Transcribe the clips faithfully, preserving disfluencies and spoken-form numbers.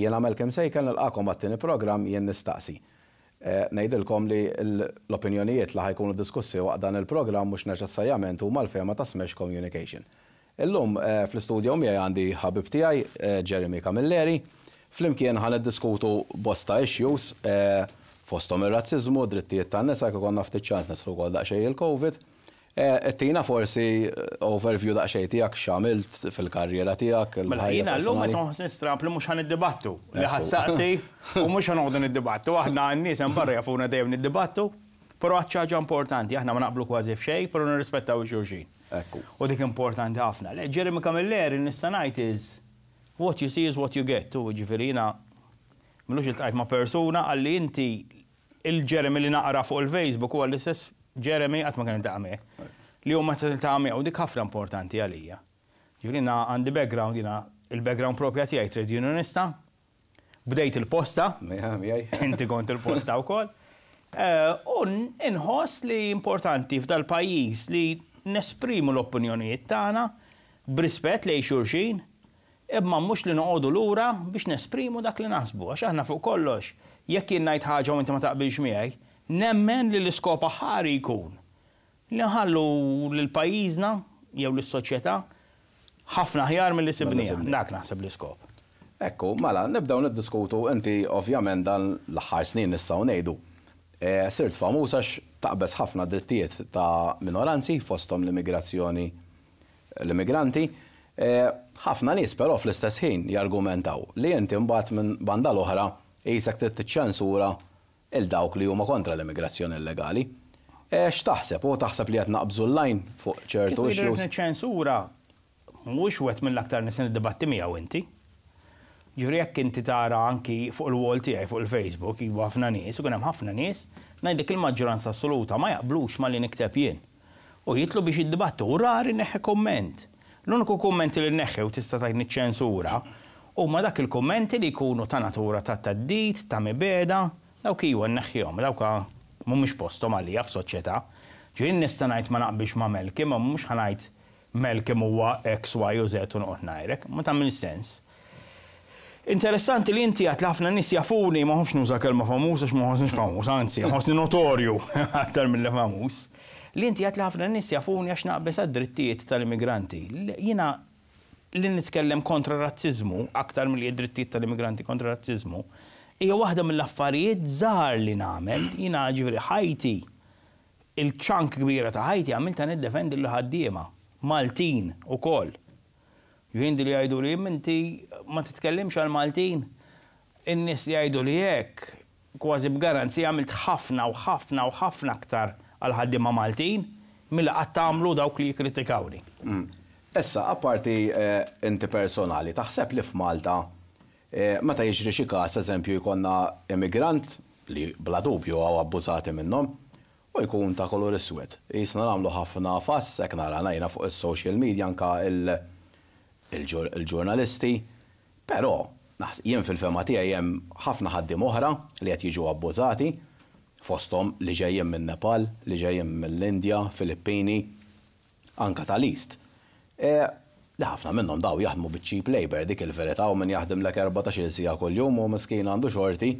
Jiena Malcolm Sejkel nilqagħkom għat-tieni programm Jien Nistaqsi. Eh, ngħidilkom li l-opinjonijiet li ħa jkunu diskussi waqt dan il-programm mhux neċessarjament huma l-fehma ta' Smash Communication. Illum eh, fl-istudio miegħi għandi ħabib tiegħi eh, Jeremy Camilleri. Flimkien ħa niddiskutu bosta issues fosthom ir-razziżmu, drittijiet tan-nisa, kif konna ftit ċans nidħlu wkoll daqsxejn il-Covid. Ittina forsi overview daqsxejn tiegħek, x'għamilt fil-karriera tiegħek. Mela jiena llum qed nħossni stramp li mhux ħa niddibattu, li ħa ssaqsi u mhux ħa noqogħdu niddibattu. Aħna n-nies hemm barra jafuna dejjem niddibattu, però għad ħaġa importanti, aħna ma naqblu kważi f'xejn, però nirrispettaw xulxin. Ekku. U dik importanti ħafna. Le, Jeremy Camilleri nista' ngħid is what you see is what you get. U ġifieri jiena m'ilux iltqajt ma' persuna qalli, "Inti il-Jeremy li naqra fuq il-Facebook huwa l-istess Jeremy qatt ma kien iltaqa' miegħek?" Li huma tiltaqa' miegħu, dik ħafna importanti għalija. Ġifieri għandi background, jiena il-background propja tiegħi trade unionista, bdejt il-posta, inti kont il-posta wkoll. Eh, u inħoss li importanti f'dal pajjiż li nesprimu l-opinjonijiet tagħna b'rispett lejn xulxin, imma mhux li noqogħdu lura biex nesprimu dak li naħsbu, għax aħna fuq kollox, jekk jien ngħid ħaġa u inti ma taqbilx miegħi, nemmen li l-iskop aħħari jkun li nħallu lil pajjiżna jew lis-soċjetà ħafna aħjar milli sibnieha. Dak naħseb l-iskop. Ekku, mela, nibdew niddiskutu. Inti ovvjament dan l-aħħar snin nistgħu ngħidu E, sirt famuż għax taqbeż ħafna drittijiet ta' minoranzi, fosthom l-immigrazzjoni, l-immigranti. E, ħafna nies però fl-istess ħin jargumentaw li inti mbagħad minn banda l-oħra qisek trid tiċċensura 'il dawk li huma kontra l-immigrazzjoni illegali. E, x'taħseb? U taħseb li qed naqbżu l-line fuq ċertu issues? Ċensura mhuwiex wieħed mill-aktar nies niddibatti miegħu inti. Ġifieri jekk inti tara anki fuq il-wall tiegħi fuq il-Facebook, ibu ħafna nies, u kien hemm ħafna nies, ngħidlek il-maġġoranza assoluta ma jaqblux ma li nikteb jien. U jitlu biex jiddibattu, u rari neħħi komment. L-uniku kummenti li neħħi u tista' tgħid niċċensura huma dak il-kummenti li jkunu ta' natura ta' theddid, ta' mibegħda, dawk iwa nneħħihom, dawk mhumiex posthom għalija f'soċjetà. Ġifieri nista' ngħid ma naqbilx ma' Malcolm, ma mhux ħa ngħid Malcolm huwa X, Y u Z u noqgħod ngħajrek, ma tagħmel sens. Interessanti li inti għedt li ħafna nies jafuni, ma nħobbx nuża kelma famuż għax ma nħossnix famuż, anzi, nħossni notorju aktar mill famuż. Li inti għedt li ħafna nies jafuni għax naqbeż għad-drittijiet tal-immigranti. Jiena li nitkellem kontra razzizmu, aktar mill drittijiet tal-immigranti kontra razzizmu, hija waħda mill-affarijiet żgħar li nagħmel. Jiena ġifieri ħajti, il-chunk kbira ta' ħajti għamilta niddefendi l-ħaddiema, Maltin ukoll. Jien li jgħidu li inti ma titkellimx għal Maltin. In-nies li jgħidu li hekk, kważi b'garanzija għamilt ħafna u ħafna u ħafna aktar għal ħaddiema Maltin milli qatt tagħmlu dawk li jikkritikawni. Mm. Issa, apparti eh, inti personali, taħseb li f'Malta eh, meta jiġri xi każ, eżempju, jkollna immigrant li bla dubju hawn abbużati minnhom u jkun ta' kolor iswed, qisna nagħmlu ħafna fuss, hekk nara ngħajna fuq is-social media, anka il-ġurnalisti, però jien fil-fehma tiegħi hemm ħafna ħaddiema oħra li qed jiġu abbużati, fosthom li ġejjin minn Nepal, li ġejjin mill-Indja, Filippini, anka tal-East. E, li ħafna minnhom daw jaħdmu biċ-cheap labor, dik il-verità, u min jaħdem lek erbatax-il siegħa kuljum u miskin għandu xorti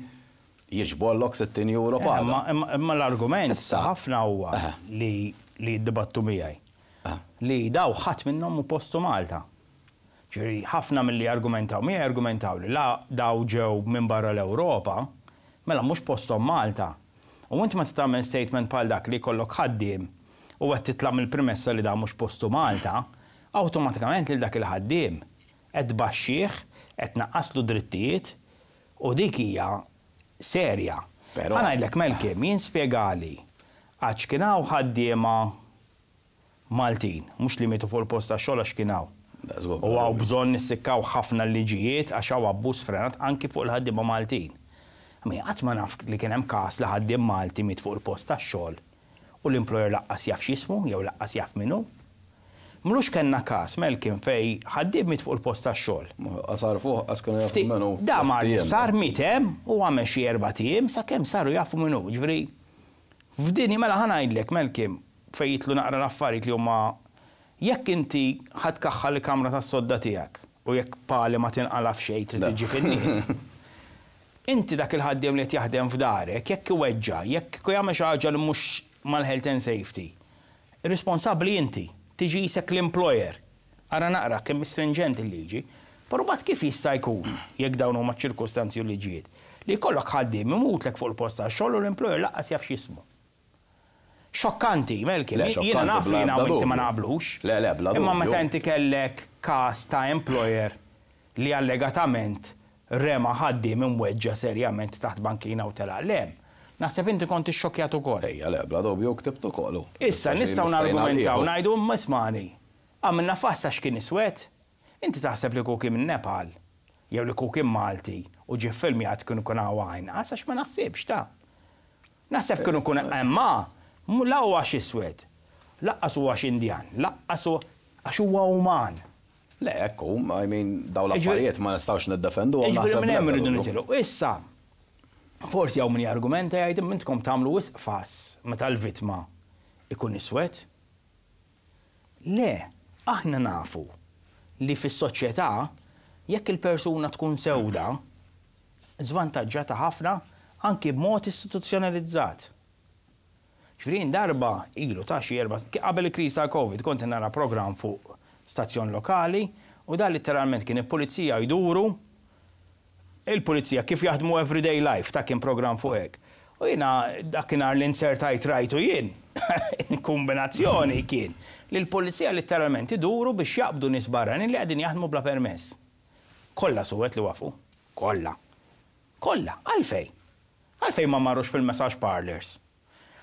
jiġborlok sittin euro paga. Imma l-argument ħafna huwa li li jiddibattu miegħi. Li daw ħadd minnhom mhu postu Malta. Ġifieri ħafna mill-li argumentaw miegħi argumentaw li la daw ġew minn barra l-Ewropa, mela mhux posthom Malta. U inti ma tagħmel statement bħal dak li jkollok ħaddiem u qed titlaq mill-premessa li da mhux postu Malta, awtomatikament lil dak il-ħaddiem qed tbaxxih, qed tnaqqaslu drittijiet u dik hija serja. Però- Ħa ngħidlek, Malcolm, jien spjegali għax kien hawn ħaddiema Maltin, mhux li mietu fuq il-post tax-xogħol għax kien hawn. Da, żgur. U hawn bżonn nissikkaw ħafna liġijiet għax hawn abbuż frenat anki fuq il-ħaddiema Maltin. Ma qatt ma naf li kien hemm każ li ħaddiem Malti miet fuq il-post tax-xogħol u l-employer lanqas jaf x'jismu jew lanqas jaf min hu. M'ilux kellna każ, Malcolm, fejn ħaddiem miet fuq il-post tax-xogħol. Qasar fuq, qas kienu jafu Ftit- min hu. Da mar Tiem. sar miet hemm u għamel xi erba' ijiem sakemm saru jafu min hu. Ġifieri f'dini mela ħa ngħidlek, Malcolm, fejn jitlu naqra l-affarijiet li huma jekk inti ħa tkaħħal il-kamra tas-sodda tiegħek u jekk pali ma tinqala f'xejn trid iġġib in-nies. Inti dak il-ħaddiem li qed jaħdem f'darek, jekk iweġġa, jekk jagħmel xi ħaġa li mhux mal-health and safety, responsabbli inti, tiġi jisek l-employer. Ara naqra kemm stringent il-liġi, però mbagħad kif jista' jkun jekk dawn huma ċirkustanzi u liġijiet li jkollok ħaddiem imutlek fuq il-post tax-xogħol u l-employer lanqas jaf x'jismu? Xokkanti, Melkim, Le, jiena naf li bla jiena ebda u inti ma dubju. naqblux. Le, le, bla Imma dubju. meta inti kellek każ ta' employer li allegatament rema ħaddiem imweġġa serjament taħt bankina u telaq lem. Naħseb inti kont ixxokkjat ukoll. Ejja, le, bla dubju ktibtu kollu. Issa nistgħu nargumentaw ngħidu, "Imma ismani, għamilna fuss għax kien iswed." Inti taħseb li kieku minn Nepal jew li kieku Malti u ġie filmjat kienu kun għajn, għax ma naħsibx ta' naħseb kienu kun imma mu- la huwa għax iswed, lanqas huwa għax Indjan, lanqas huwa għax huwa uman. Le, ekku, I mean, daw l-affarijiet ma nistgħux niddefendu. Ġifieri minn hemm irridu nitilqu. Issa, forsi hawn min jargumenta jgħid, "Intkom tagħmlu wisq fuss meta l-vittma ikun iswed." Le, aħna nafu li fis-soċjetà jekk il-persuna tkun sewda, żvantaġġata ħafna anki b'mod istituzzjonalizzat. Ġifieri darba ilu ta' xi erba' qabel il-kriżi tal-Covid kont nara programm fuq stazzjon lokali u da letteralment kien il-pulizija jduru, il-pulizija kif jaħdmu everyday life, ta' kien program fuq hekk. U jiena dakinhar li insertajt rajtu jien, kombinazzjoni kien li l-pulizija letteralment iduru biex jaqbdu nies barranin li qegħdin jaħdmu bla permess. Kollha suwed li wafu. Kollha. Kollha. Għalfej? Għalfej ma marrux fil-massage parlors?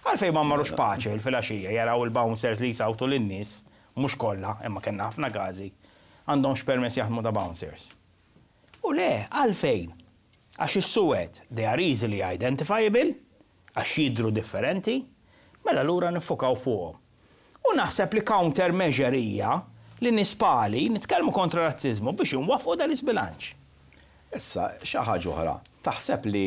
Għalfej ma marrux Pace fil-għaxija jaraw il-bouncers li jisawtu lin-nies, mhux kollha, imma kellna ħafna każi, għandhomx permess jaħdmu ta' bouncers? U le, għalfejn? Għax is-suwed, they are easily identifiable, għax jidru differenti, mela lura nifokaw fuqhom. U naħseb li counter measure hija li nispali nitkellmu kontra razzizmu biex nwaffqu dal-isbilanċ. Issa, xi ħaġa oħra, taħseb li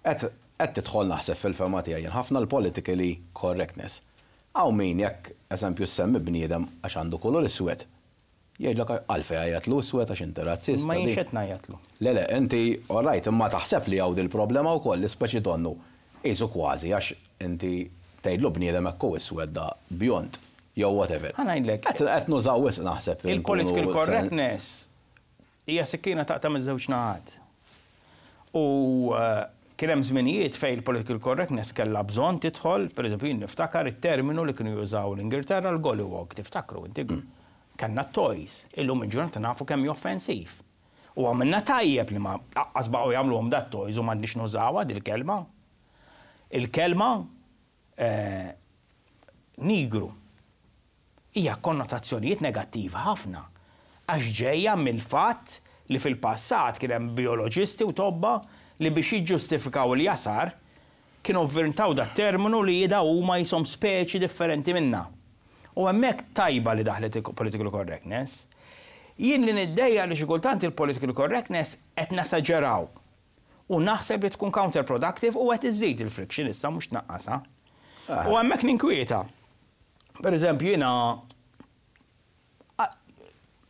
qed qed tidħol, naħseb fil-fema tiegħi, ħafna l-politically correctness. Hawn min jekk eżempju semmi bniedem għax għandu kulur iswed, jgħidlek, "Għalfej għajjatlu iswed, għax inti razzista." Ma di. jienx qed ngħajjatlu. Le, le, inti, all right, imma taħseb li hawn dil-problema wkoll li speċi donnu qisu kważi għax inti tgħidlu bniedem hekk iswed, da bjond, jew whatever. Ħa ngħidlek. Qed qed nużaw wisq naħseb. Il-political nkunu sen- correctness hija sikkina taqta' miż-żewġ naħat. U eh, kien hemm żminijiet fejn il-political correctness kellha bżonn tidħol, pereżempju jien niftakar it-terminu li kienu jużaw l-Ingilterra, l-gollywog, tiftakru inti? Kellna toys, illum il-ġurnata nafu kemm hi offensiv. U għamilna tajjeb li ma lanqas baqgħu jagħmluhom dat toys u m'għandniex nużawha dil-kelma. Il-kelma eh, nigru hija konnotazzjonijiet negattiva ħafna. Għax ġejja mill-fatt li fil-passat kien hemm bioloġisti u tobba li biex jiġġustifikaw il-jasar kienu vvintaw dat terminu li jida huma jisom speċi differenti minna. U hemmhekk tajba li daħlet il-political correctness. Jien li niddejjaq li xi kultant il-political correctness qed nesaġeraw. U naħseb li tkun counterproductive u qed iżżid il-friction issa, mhux tnaqqasha. U hemmhekk ninkwieta. Per eżempju, jiena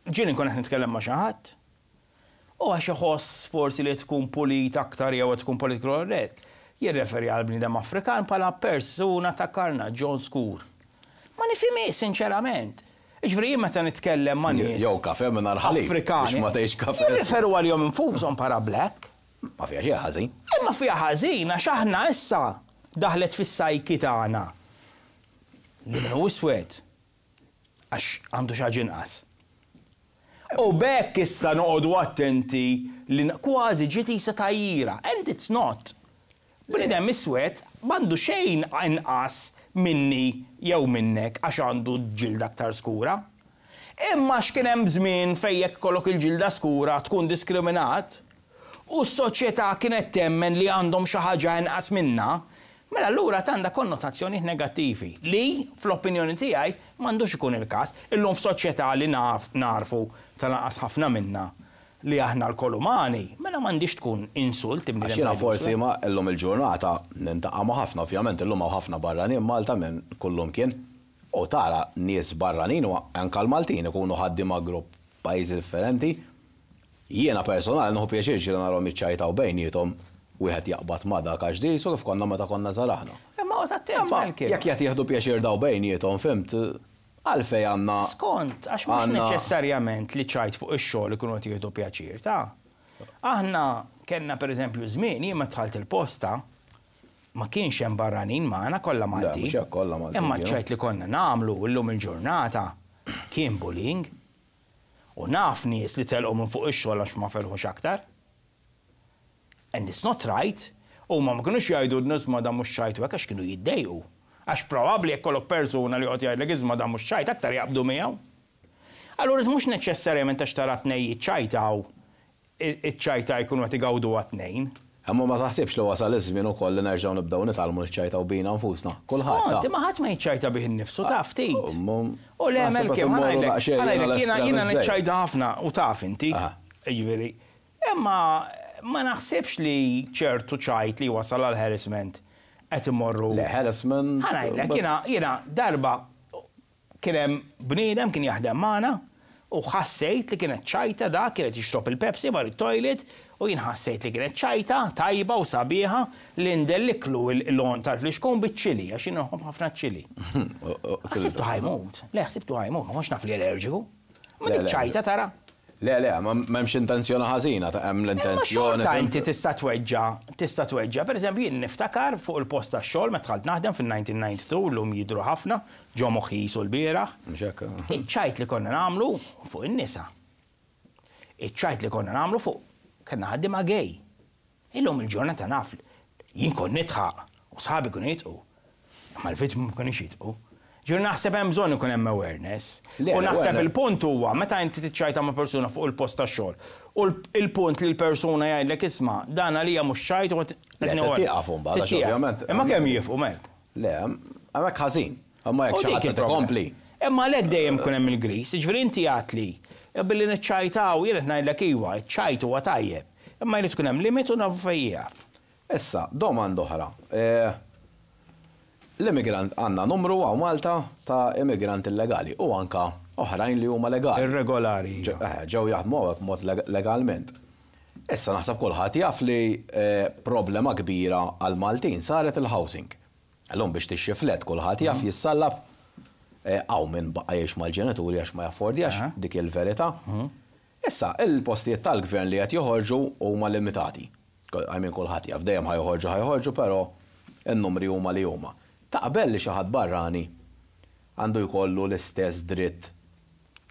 ġieli nkun qed nitkellem ma' xi ħadd u għax iħoss forsi li tkun pulit aktar jew tkun political correct, jirreferi għal bniedem Afrikan bħala persuna ta' karnaġġjon skur. Ma nifhimx, sinċerament. Ġifieri jien meta nitkellem ma' nies Jew kafe mingħajr ħalib. Afrikani. Biex ma tgħix kafe. Jirreferu għalihom infushom bħala black. Ma fiha xi ħażin. Imma fiha ħażin għax aħna issa daħlet fis-psyche tagħna li min hu iswed għax għandu xi ħaġa inqas. U b'hekk issa noqogħdu attenti li kważi ġiet isa tajjira. And it's not. Bniedem iswed m'għandu xejn inqas minni jew minnek għax għandu ġilda aktar skura. Imma x'kien hemm żmien fejn jekk kollok il-ġilda skura tkun diskriminat u s-soċjetà kienet temmen li għandhom xi ħaġa inqas minna, mela allura għandha konnotazzjoni negattivi li fl-opinjoni tiegħi m'għandux ikun il-każ. Illum f'soċjetà li naf, narfu tal-anqas ħafna minna li aħna lkoll umani, mela m'għandix tkun insult Għax jiena forsi ma illum il-ġurnata niltaqa' ma' ħafna, ovvjament illum hawn ħafna barranin Malta minn kullum kien. U tara nies barranin u anka l-Maltin ikunu ħaddiema grupp pajjiżi differenti. Jiena personali nieħu pjaċir ġieli narahom jiċċajtaw bejniethom. Wieħed jaqbad ma' dak għax di su kif konna meta konna żgħar aħna. Imma oqgħod attent, Imma Malcolm. jekk qed jieħdu pjaċir daw bejniethom, fhimt, għalfejn għandna. Skont, għax mhux Għandna- neċessarjament li ċajt fuq ix-xogħol ikunu qed jieħdu pjaċir, ta' aħna kellna pereżempju żmien jien meta dħalt il-posta ma kienx hemm barranin magħna, kollha Maltin. Mhux hekk, kollha Maltin Imma kienu. ċajt li konna nagħmlu llum il-ġurnata kien bullying. U naf nies li telqu minn fuq ix-xogħol għax ma felħux aktar. And it's not right. U ma ma kinux jgħidu isma' da mhux ċajt u hekk, għax kienu jiddejqu. Għax probabbli jekk kollok persuna li joqgħod jgħidlek isma' da mhux ċajt, aktar jaqbdu miegħu. Allura mhux neċessarjament għax tara tnejn jiċċajtaw, iċ-ċajta jkunu qed igawdu għat-tnejn. Imma ma taħsibx li wasal iż-żmien ukoll li nerġgħu nibdew nitgħallmu niċċajtaw bina nfusna? Kulħadd. Skont, ta' imma ħadd ma jiċċajta bih innifsu, taf ftit. Um, U le, naħseb Melke, qed ma immorru ngħidlek, daqsxejn ma ngħidlek, jiena jiena għal-estrem niċċajta ħafna u taf inti. Aha. Jiġifieri. Imma ma naħsibx li ċertu ċajt li wasal għal harassment qed imorru. Le, harassment. Ħa ngħidlek, jiena jiena darba kien hemm bniedem kien jaħdem magħna u ħassejt li kienet ċajta, da kienet jixrob il-Pepsi mar it-toilet u jien ħassejt li kienet ċajta tajba u sabiħa li ndelliklu l-għonq tal-flixkun biċ-ċili, għax jien nħobb ħafna ċili. Ħsibtu ħa jmut. Le, ħsibtu ħa jmut, ma kontx naf li allerġiku. Ma Le, dik le. ċajta tara. Le, le, ma m'hemmx intenzjoni ħażina, ta' hemm Imma l-intenzjoni. xorta fhimt? inti tista' tweġġa, tista' tweġġa. Per eżempju, jien niftakar fuq il-post tax-xogħol meta dħalt naħdem fil-elf disa' mija u disgħa u disgħin, llum jidru ħafna, ġo moħħi jisu l-bieraħ. Mhux hekk. Iċ-ċajt li konna nagħmlu fuq in-nisa. Iċ-ċajt li konna nagħmlu fuq kellna ħaddiema gay. Illum il-ġurnata naf jien kont nidħaq u sħabi kienu jidħqu. Imma l-vittmi ma kienux jidħqu. Ġur naħseb hemm bżonn ikun hemm awareness. Le, U naħseb awareness. il-punt huwa meta inti tiċċajta ma' persuna fuq il-post tax-xogħol. U l- il-punt li l-persuna jgħidlek, "Isma', dan għalija mhux ċajt", u Le, tieqaf imbagħad, għax ovvjament- Imma kemm jieqfu, Melk? Le, hemmhekk ħażin. Imma jekk U xi dik ħadd qed il-problema. ikompli. Imma għalhekk dejjem kun hemm il-gris, jiġifieri inti għat li billi niċċajtaw, jien qed ngħidlek iwa, iċ-ċajt huwa tajjeb. Imma jrid tkun hemm limit u nafu fejn jieqaf. Issa, domanda oħra. Eh, L-immigrant, għandna numru hawn Malta ta' immigranti illegali u anka oħrajn li huma legali. Irregolari. Ġew eh, ġew jaħdmu hawnhekk mod leg- legalment. Issa naħseb kulħadd jaf li eh, problema kbira għal Maltin saret il-housing. Illum biex tixtri flat kulħadd jaf jissallab, eh, hawn min baqa' jgħix mal-ġenituri għax ma jaffordjax, Aha. dik il-verità. Issa, il-postijiet tal-gvern li qed joħorġu huma limitati. I mean, kulħadd jaf dejjem ħa joħorġu, ħa joħorġu, però n-numri huma li huma. Taqbel li xi ħadd barrani għandu jkollu l-istess dritt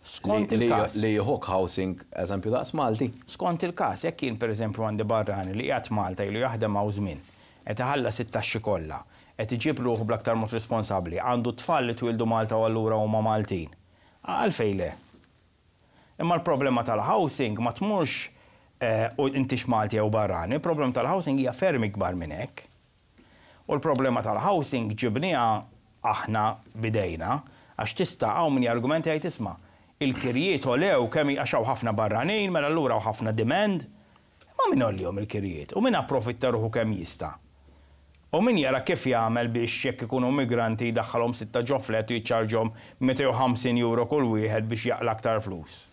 Skont li, li, il-każ. li jieħu housing, eżempju, daqs Malti? Skont il-każ, jekk jien pereżempju għandi barrani li qiegħed Malta, ilu jaħdem hawn żmien, qed iħallas it-taxxi kollha, qed iġib ruħu bl-aktar mod responsabbli, għandu tfal li twildu Malta u allura huma Maltin. Għalfejn le? Imma l-problema tal-housing ma tmurx eh, u intix Malti jew barrani, il-problema tal-housing hija ferm ikbar minn hekk. U l-problema tal-housing ġibniha aħna bidejna, għax tista' hawn min jargumenta jgħid, "Isma', il-kirjiet għolew kemm għax hawn ħafna barranin, mela allura hawn ħafna demand." Ma min għollihom il-kirjiet? U min approfitta ruħu kemm jista'? U min jara kif jagħmel biex jekk ikunu migranti jdaħħalhom sitta ġo flat u jiċċarġhom mitejn u ħamsin euro kull wieħed biex jaqla aktar flus?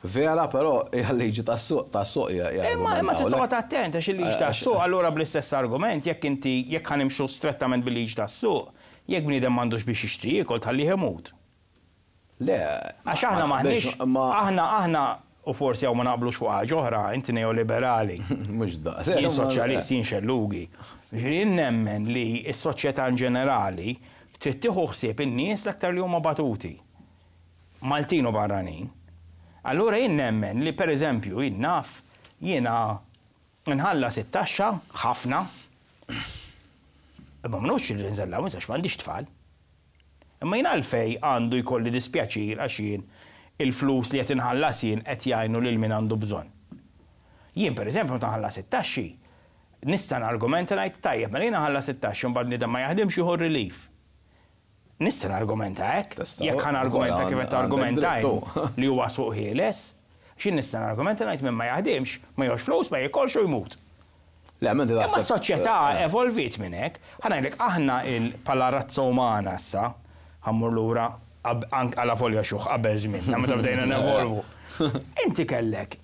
Vera, però hija liġi tas-suq, tas-suq Imma imma trid toqgħod attent għax il-liġi tas-suq, allura bl-istess argument, jekk inti jekk ħa nimxu strettament bil-liġi tas-suq, jekk bniedem m'għandux biex jixtri jiekol, tħallih imut. Le. Għax aħna m'aħniex, aħna aħna u forsi hawn ma naqblux fuq ħaġa oħra, inti neoliberali. Mhux daqs. Jien soċjalist, jien xellugi. Ġifieri jien nemmen li s-soċjetà in ġenerali trid tieħu ħsieb in-nies l-aktar li huma batuti. Maltin u barranin. Allura jien nemmen li pereżempju jien naf jiena nħallas it-taxxa ħafna. Imma mhux li nżella għax m'għandix tfal. Imma jien għalfej għandu jkolli dispjaċir għax jien il-flus li qed inħallas jien qed jgħinu lil min għandu bżonn? Jien pereżempju meta nħallas it-taxxi, nista' nargumenta ngħid, "Tajjeb, mela jiena ħallas it-taxxi, mbagħad bniedem ma jaħdimx jieħu relief." Nista' nargumenta hekk, Tista' jekk ħa nargumenta kif qed argumenta għandek li huwa suq ħieles, x'in nista' nargumenta ngħid min ma jaħdimx, ma jieħux flus, ma jikolx u jmut. Le, m'inti Imma taħseb- s-soċjetà evolviet minn hekk. Ħa ngħidlek, aħna il bħala razza umana issa, ħa mmur lura anke għala folja xuħ qabel żmien, meta bdejna nevolvu. Inti kellek.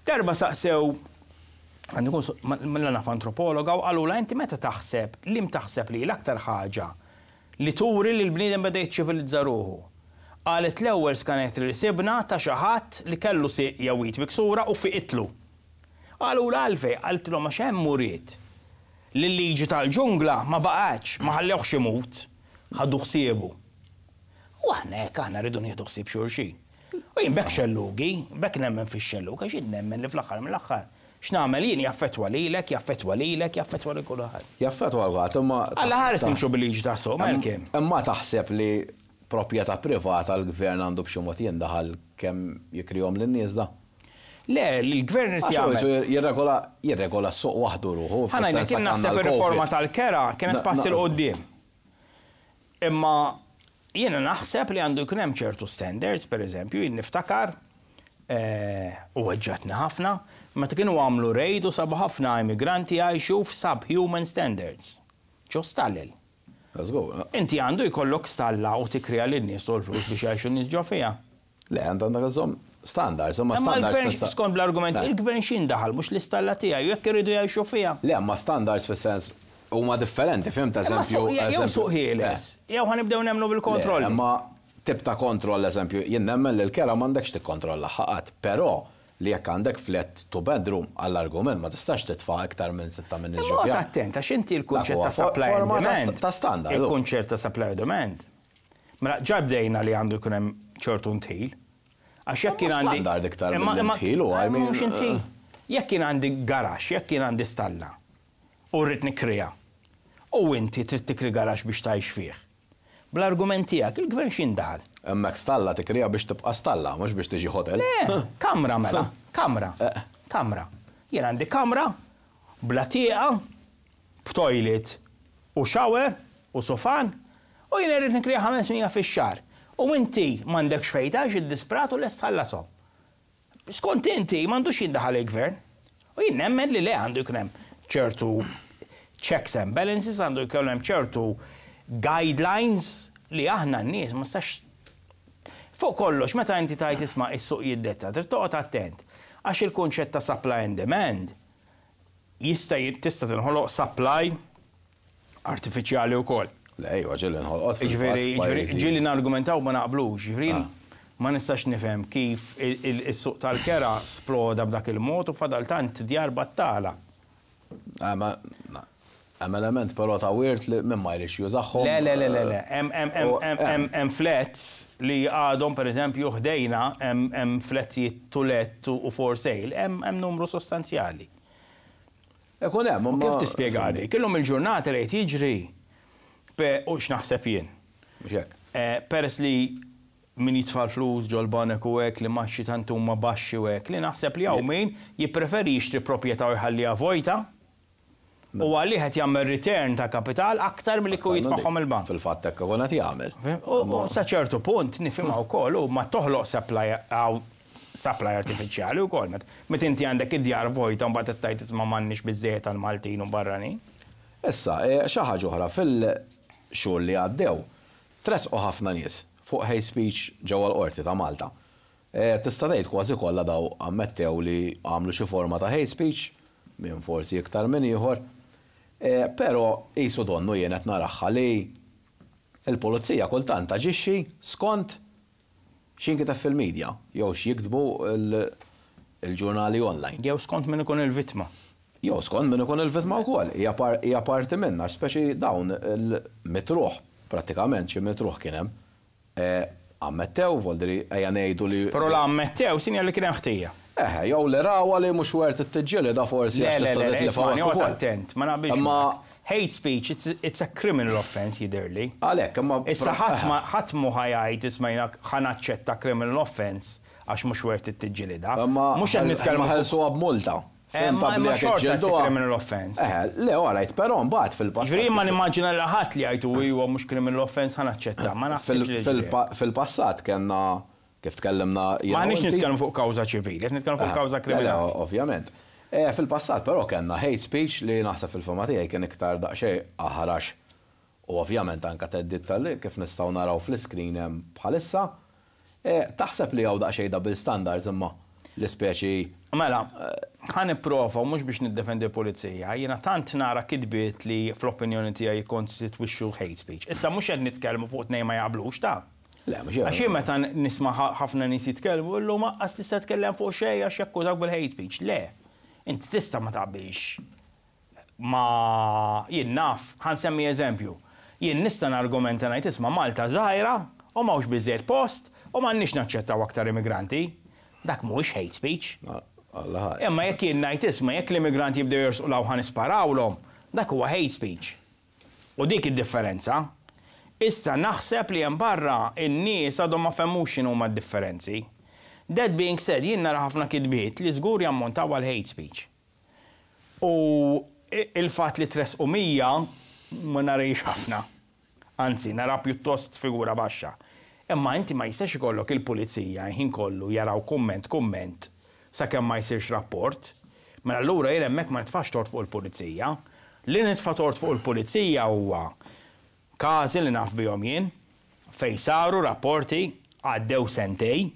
Darba saqsew Għandu kun mela naf antropologa u qalula: "Inti meta taħseb, li taħseb li l-aktar ħaġa li turi li l-bniedem beda jiċċivilizza ruħu?" Qalet: "L-ewwel skanetri li sibna ta' xi ħadd li kellu sieq jew id miksura u fiqitlu." Qalula: "Għalfejn?" Qaltilhom: "Għax hemm uriet li l-liġi tal-ġungla ma baqgħetx, ma ħallewx imut, ħadu ħsiebu." U aħna hekk, aħna rridu nieħdu ħsieb xulxin. U jien bekk xellugi, bekk nemmen fix-xellug, għax jien nemmen li fl-aħħar mill-aħħar x'nagħmel jien jaffettwa lilek, jaffettwa lilek, jaffettwa lil kulħadd. Jaffettwa l imma. Alla ħares nimxu bil-liġi ta' suq, Malcolm. Imma taħseb li proprjetà privata l-gvern għandu b'xi mod jindaħal kemm jikrihom lin-nies da? Le, l-gvern irid Għax jagħmel. hu jirregola jirregola s-suq waħdu ruħu. Ħa ngħidlek, fis-sens kien għandna naħseb l-Covid. ir-riforma tal-kera kienet Na- passi na- 'l quddiem. Imma jiena naħseb li għandu jkun hemm ċertu standards, per eżempju, jien niftakar eh, u weġġatni ħafna, meta kienu għamlu raid u sabu ħafna immigranti jgħixu f'subhuman standards. Ġo stallel. Let's go. Inti għandu jkollok stalla u tikrija lin-nies u l-flus biex jgħixu n-nies ġo fiha. Le, għandek iżżomm standards, imma Imma standards l-gvern, nista' skont bl-argument, Le. il-gvern x'indaħal, mhux l-istalla tiegħi, jekk iridu jgħixu fiha. Le, ma standards fis-sens huma differenti, fhimt? Imma Eżempju. suq- jew eżempju- suq ħieles, jew ħa nibdew nemmnu bil-kontrolli. Le, Imma tip ta' kontroll, eżempju, jien nemmen li l-kera m'għandekx tikkontrolla ħaqat, però li jekk għandek flat two bedroom, għall-argument, ma tistax titfa' iktar minn sitta minn Imma nies ġo fiha. attent, għax inti l-kunċett Dak huwa ta' supply and forma ta' demand. ta' standard. Il-kunċett ta' supply and demand. Mela, ġa bdejna li għandu jkun hemm ċertu ndħil. Għax jekk kien Imma għandi. standard iktar Imma- mill imma- ndħil u, I mean, Mhux ndħil. Jekk kien għandi garaxx, jekk kien għandi stalla, u rrid nikrija, u inti trid tikri garaxx biex tgħix fih. Bl-argument tiegħek, il-gvern x'indaħal? Hemmhekk stalla tikrija biex tibqa' stalla, mhux biex tiġi hotel. Le, kamra mela, kamra, Eh. kamra. Jien għandi kamra, bla tieqa, b'toilet u shower u sofan, u jien irrid nikrija ħames mija fix-xahar. U inti m'għandekx fejn tgħix, iddisprat u lest tħallasom. Skont inti m'għandux jindaħal il-gvern. U jien nemmen li le, għandu jkun hemm ċertu checks and balances, għandu jkun hemm ċertu guidelines li aħna n-nies ma stax. Fuq kollox, meta inti tajt isma' is-suq jiddetta, trid toqgħod attent. Għax il-kunċett ta' supply and demand jista' tista' tinħoloq supply artifiċjali wkoll. Le, ejwa, ġieli nħolqot fil-fatt Ġifieri, ġifieri, f'pajjiżi. ġieli nargumentaw ma naqblux, ġifieri Ah. ma nistax nifhem kif il- il- is-suq tal-kera sploda b'dak il-mod u fadal tant djar battala. Ah, ma- na- Hemm element però ta' wirt li min ma jridx jużahom. Le, le, le, le, le. Hemm hemm hemm U- hemm hemm hemm flats li għadhom, per eżempju, ħdejna hemm hemm flats to let u for sale, hemm hemm numru sostanzjali. Ikun hemm, U imma- kif tispjega di? Kellhom il-ġurnata li qed jiġri pe u x'naħseb jien. Mhux hekk. Eh, Peress li min jitfa' l-flus ġol-banek u hekk li imgħaxi tant huma baxxi u hekk li naħseb li hawn min jippreferi jixtri proprjetà u jħalliha vojta u għalih qed jagħmel return ta' kapital aktar milli kieku jitfagħhom il-bank. Fil-fatt hekk ikun qed jagħmel. U u sa ċertu punt nifhimha wkoll u ma toħloq supply għaw supply artifiċjali wkoll. Met met inti għandek id-djar vojta mbagħad qed tgħid: "Isma', m'għandniex biżejjed tal-Maltin u barranin." Issa, eh, xi ħaġa oħra, fil-xhur li għaddew, tresqu ħafna nies fuq hate speech ġewwa l-qorti ta' Malta. Eh, Tista' tgħid kważi kollha daw ammettew li għamlu xi forma ta' hate speech, minn forsi iktar minn ieħor. Eh, Però qisu donnu jien qed naraha li il-pulizija kultant taġixxi skont x'inkiteb fil-medja jew x'jiktbu il- il-ġurnali online. Jew skont min ikun il-vittma. Jew skont min ikun il-vittma wkoll, hija par- hija parti minna, speċi dawn il-mitruħ, prattikament xi mitruħ kien hemm. Eh, Ammettew, voldiri, ejja ngħidu li. Però la ammettew sinjal li kien hemm ħtija. Eh, jew li rawa li mhux wert it-tiġġieli da forsi Le, għax le, tista' le, le, titlifa ismagħni, hekk oqgħod ukoll. attent, ma naqbilx Imma miegħek. Hate speech, it's, it's a criminal offense jidhirli. Għalhekk, imma Issa ħadd ma ħadd mhu ħa jgħid: "Isma', jiena ħa naċċetta criminal offense għax mhux wert it-tiġġielida." Imma Mhux qed nitkellmu ma fuq- ħelsuha b'multa. Eh, Fim ma- ta' ma bli jekk xorta it's a iġġilduha. criminal offense. Eh, le, alright, però mbagħad fil-passat. Ġifieri ma nimmaġina li ħadd li jgħidu: "Iwa, mhux criminal offense, ħa naċċetta." Ma naħsibx li ġifieri. Fil-passat kellna kif tkellimna jiena Ma u nix inti. nitkellmu fuq kawża ċivili, qed nitkellmu fuq kawża Le, le, kriminali. ovvjament. Eh, Fil-passat però kellna hate speech li naħseb fil-fehma tiegħi kien iktar daqsxejn aħrax u ovvjament anka theddid tal kif nistgħu naraw fl-screen hemm bħalissa. Eh, Taħseb li hawn daqsxejn double standards imma l-ispeċi Mela, ħa nipprova, u mhux biex niddefendi l-pulizija, jiena tant nara kitbiet li fl-opinjoni tiegħi jikkonstitwixxu hate speech. Issa mhux qed nitkellmu fuq tnejn ma jaqblux ta'. Le, mhux Għax jien meta nisma' ħafna nies jitkellmu, illum lanqas tista' tkellem fuq xejn għax jakkużawk bil-hate speech. Le, inti tista' ma taqbilx ma jien naf, ħa nsemmi eżempju. Jien nista' nargumenta ngħid, isma', Malta żgħira u m'hawnx biżejjed post u m'għandniex naċċettaw aktar immigranti. Dak mhuwiex hate speech. Alla ħares. Imma jekk jien ngħid, isma', jekk l-immigranti jibdew jersqu 'l hawn ħa nisparawlhom, dak huwa hate speech. U dik id-differenza. Issa naħseb li hemm barra in-nies għadhom ma fehmux x'inhu huma d-differenzi. That being said, jien nara ħafna kitbiet li żgur jammontaw għal hate speech. U il-fatt li tressqu mija ma narahiex ħafna. Anzi, nara pjuttost figura baxxa. Imma inti ma jistax ikollok il-pulizija ħin kollu jaraw kumment kumment sakemm ma jsirx rapport. Mela allura jien hemmhekk ma nitfax tort fuq il-pulizija. Li nitfa' tort fuq il-pulizija huwa każi li naf bihom jien fej saru rapporti, għaddew sentejn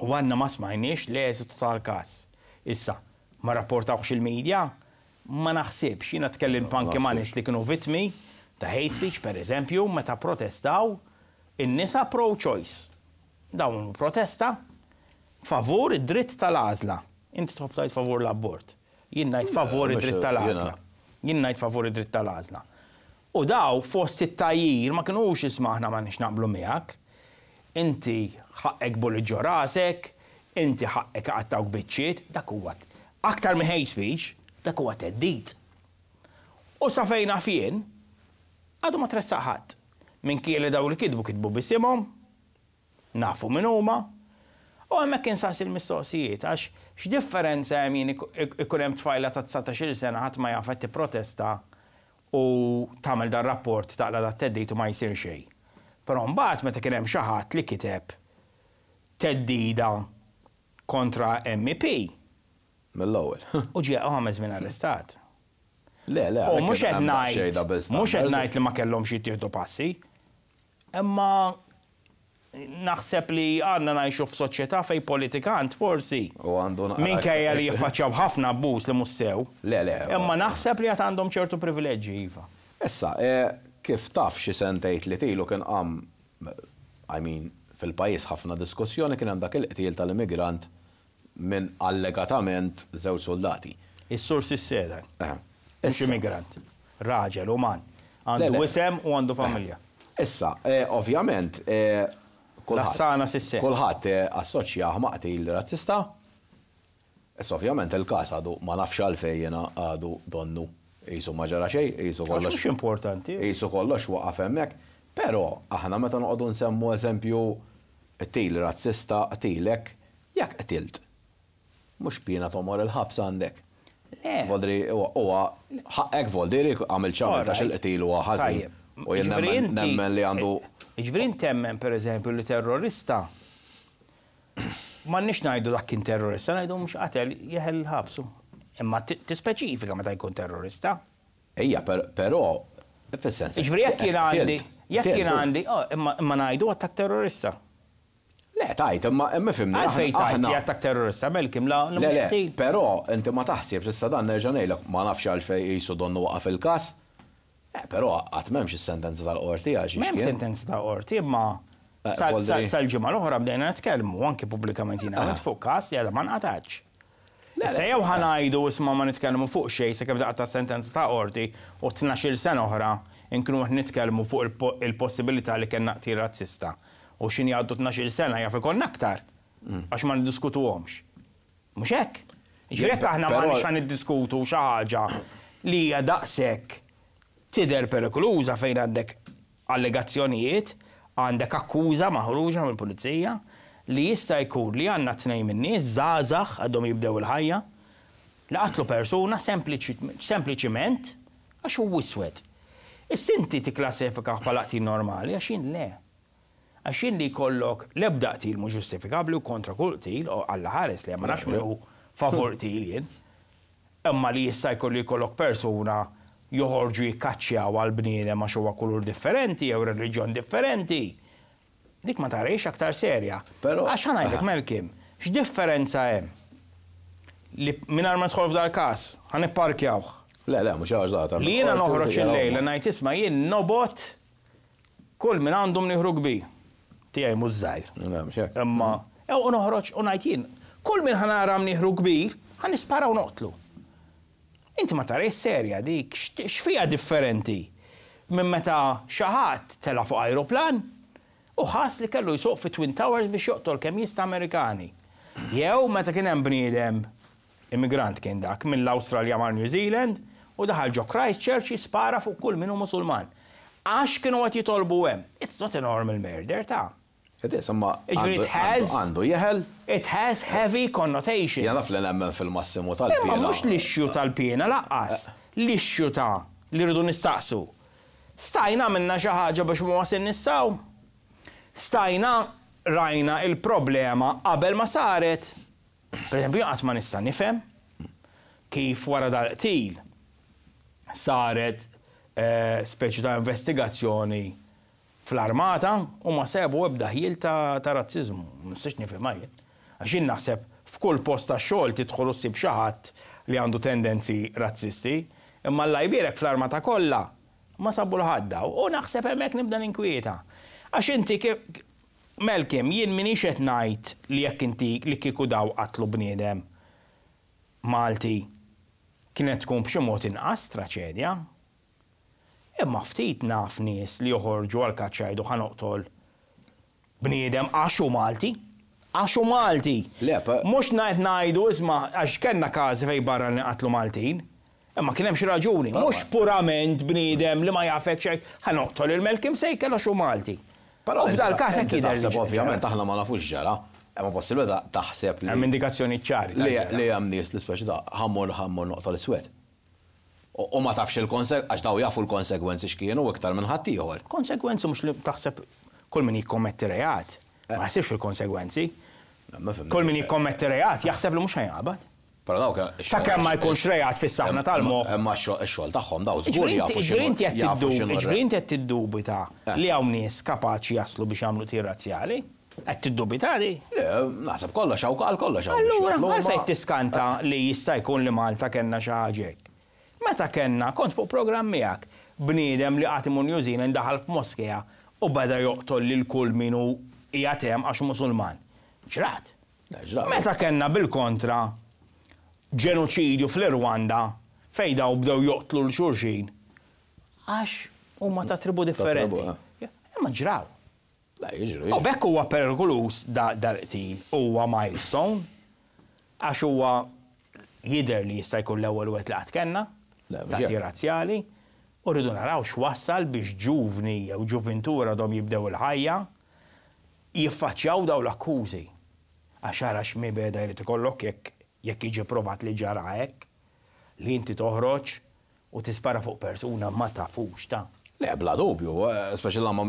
u għadna ma smajniex l-eżitu tal-każ. Issa, ma rapportawx il-medja? Ma naħsibx, jiena tkellimt anke ma' nies li kienu vittmi ta' hate speech, per eżempju, meta protestaw in-nisa pro-choice. Dawn protesta favur id-dritt tal-għażla. Inti tħobb tgħid favur l-abort. Jien ngħid favur id-dritt tal-għażla. Jien ngħid favur id-dritt tal-għażla. U daw fost it-tgħajjir ma kinux, isma', aħna ma nix naqblu miegħek. Inti ħaqqek bullet ġo rasek, inti ħaqqek qattgħuk biċċiet, dak huwa aktar minn hate speech, dak huwa theddid. U sa fejn naf jien, għadu ma tressaq ħadd. Minkejja li daw li kitbu kitbu b'isimhom, nafu min huma, u hemmhekk insaqsi l-mistoqsijiet, għax x'differenza hemm jien ikun hemm tfajla ta' dsatax-il sena ħadd ma jaf qed tipprotesta u tagħmel dan rapport taqla' dat-theddid u ma jsir xejn? Però mbagħad meta kien hemm xi ħadd li kiteb theddida kontra M E P. Mill-ewwel. U ġie ħames minn arrestat. Le, le, U mhux qed ngħid mhux qed ngħid li ma kellhomx jittieħdu passi. Imma naħseb li għandna ngħixu f'soċjetà fej politikant forsi. U għandu Minkejja li jiffaċċjaw ħafna abbuż li mhux sew. Le, le. Imma naħseb li għad għandhom ċertu privileġġi, iva. Issa, eh, kif taf, xi sentejn li ilu kien qam, I mean, fil-pajjiż ħafna diskussjoni, kien hemm dak il-qtil tal-immigrant minn allegatament żewġ soldati. Is-sur Sissera. Eh, Mhux immigrant. Raġel, uman. Għandu isem u għandu familja. Issa, eh, ovvjament, Lassana Sisse. Kulħadd assoċjah ma' qtil razzista. Issa ovvjament il-każ għadu, ma nafx għalfejn jiena, għadu donnu qisu ma ġara xejn, qisu kollox. Mhux importanti. Qisu kollox waqaf hemmhekk. Però aħna meta noqogħdu nsemmu eżempju qtil razzista, qtilek, jekk qtilt, mhux piena tomor il-ħabs għandek? Voldiri, huwa ħaqqek, voldiri għamil ċamil ta' xil-qtil huwa ħażin. U jien nemmen li għandu. Ġifieri temmen, per eżempju, li terrorista, m'għandniex ngħidu dak kien terrorista, ngħidu mhux qatel, jeħel il-ħabsu. Imma tispeċifika meta jkun terrorista. Ejja, però, fis-sens. Ġifieri jekk jien għandi, jekk jien għandi, oh, imma ngħidu attak terrorista. Le, tajt, imma imma fimni. Għalfejn tajt li attak terrorista, Malcolm, la Le, le, però inti ma taħsibx, issa dan nerġa' ngħidlek, ma nafx għalfejn qisu donnu waqaf il-każ. Eh, però qatt m'hemmx is-sentenza tal-qorti għax. M'hemm sentenza tal-qorti, imma Eh, Voldiri- sal-ġimgħa l-oħra bdejna nitkellmu anke pubblikament jiena għamilt fuq każ li għadha ma nqatax. Issa jew ħa ngħidu, isma', ma nitkellmu fuq xejn sakemm taqta' sentenza ta' qorti u tnax-il sena oħra nkunu qed nitkellmu fuq il-po- il-possibilità li kellna qtil razzista. U x'ħin jgħaddu tnax-il sena jaf ikollna aktar għax ma niddiskutuhomx. Mhux hekk? Ġifieri jekk aħna ma Però- nix niddiskutu xi ħaġa li hija daqshekk tidher perikoluża fejn għandek allegazzjonijiet, għandek akkuża maħruġa mill-pulizija li jista' jkun li għandna tnejn min-nies żgħażagħ għadhom jibdew il-ħajja li qatlu persuna sempliċi- sempliċiment għax hu iswed. Issa inti tikklassifika bħala qtil normali, għax jien le. Għax jien li jkollok l-ebda qtil mhux ġustifikabbli u kontra kull qtil, u Alla ħares li ma nafx min hu favur qtil jien. Imma li jista' jkollu jkollok persuna joħorġu jikkaċċjaw għal bniedem għax huwa kulur differenti jew reliġjon differenti. Dik ma tarahiex aktar serja. Però- Għax ħa ngħidlek, Malcolm, x'differenza hemm? Li mingħajr ma nidħol f'dal każ, ħa nipparkjawh. Le, le, mhux għax da. Li jiena noħroġ il-lejl ngħid, "Isma', jien nobgħod kull min għandu mnieħru kbir." Tiegħi mhux żgħir. Le, mhux hekk. Imma jew noħroġ u ngħid jien, kull min ħa nara mnieħru kbir, ħa nispara u noqtlu. Inti ma tarahiex serja dik, x'fiha differenti minn meta xi ħadd tela fuq aeroplan u ħass li kellu jsuq fi Twin Towers biex joqtol kemm jista' Amerikani? Jew meta kien hemm bniedem immigrant kien dak mill-Awstralja mar New Zealand u daħal ġo Christchurch jispara fuq kull min hu Musulman. Għax kienu qed jitolbu hemm. It's not a normal murder ta'. Insomma, Jiġifieri it has- għandu jeħel. It has heavy connotations. Jiena naf li nemmen fil-massimu Imma tal-piena. mhux l-issue tal-piena lanqas, l-issue ta' li rridu nistaqsu. Stajna minna xi ħaġa biex ma wasilniex s'hawn? Stajna rajna il-problema qabel ma saret? Per eżempju, qatt ma nista' nifhem kif wara dal-qtil saret eh, speċi ta' investigazzjoni fl-armata u ma sabu ebda ħjiel ta', ta razzizmu. Ma nistax nifhem jien. Għax jien naħseb f'kull post ta' xogħol tidħol u ssib xi ħadd li għandu tendenzi razzisti, imma Alla jbierek fl-armata kollha ma sabu 'l ħadd. U naħseb hemmhekk nibda ninkwieta. Għax inti kif Malcolm, jien minix qed ngħid li jekk inti li kieku daw qatlu bniedem Malti kienet tkun b'xi mod inqas traċedja. Imma ftit naf nies li joħorġu għal kaċċa jgħidu, "Ħa noqtol bniedem għax hu Malti. Għax hu Malti." Le, pa- Mhux ngħid ngħidu, isma', għax kellna każi fejn barra li qatlu Maltin. Imma kien hemm xi raġuni, mhux purament bniedem li ma jafek xejn, "Ħa noqtol lil Malcolm Sejkel għax hu Malti." Però U f'dal każ hekk inti jidher li taħseb ġara. Ovvjament aħna ma nafux ġara. Imma possibbli ta' taħseb li Hemm indikazzjoni ċari. li li hemm nies li speċi da ħa mmur ħa mmur noqtol iswed. U u ma tafx il-konseg għax daw jafu l-konsegwenzi x'kienu iktar minn ħaddieħor. Konsegwenzi mhux li taħseb kull min jikkommetti reat. Ma jaħsibx fil-konsegwenzi. Ma fimni. Kull min jikkommetti reat jaħseb li mhux ħa jinqabad. Però dawk Sakemm ma jkunx reat fis-saħna tal-moħħ. Imma x-xogħol tagħhom daw żgur Ġifieri jafu inti inti qed jafu tiddu- x'inhu ġifieri inti qed tiddubita Eh. li hawn nies kapaċi jaslu biex jagħmlu qtil razzjali? Qed tiddubita di? Le, naħseb kollox hawn għal kollox hawn. biex Allura, jaslu, ma- għalfejn tiskanta li jista' jkun li Malta kellna xi ħaġa hekk? Meta kellna, kont fuq programm miegħek, bniedem li qatt imur New Zealand daħal f'moskea u beda joqtol lil kull min hu qiegħed hemm għax Musulman. Ġrat. Le, ġrat. Meta kellna bil-kontra ġenoċidju fl-Irwanda fejn daw bdew joqtlu 'l xulxin għax huma ta' tribu differenti. tribu, Ja, imma ġraw. Le, jiġru. U bekk huwa perikoluż da dal-qtil, huwa milestone, għax huwa jidher li jista' jkun l-ewwel wieħed li qatt kellna Le, mhux ta' hekk. razzjali, u rridu naraw x'wassal biex ġuvni jew ġuvintura għadhom jibdew il-ħajja jiffaċċjaw daw l-akkużi. Għax ara x'mibegħda jrid ikollok jekk jekk jiġi provat li ġara hekk, li inti toħroġ u tispara fuq persuna ma tafux ta'. Le, bla dubju, eh, speċi la ma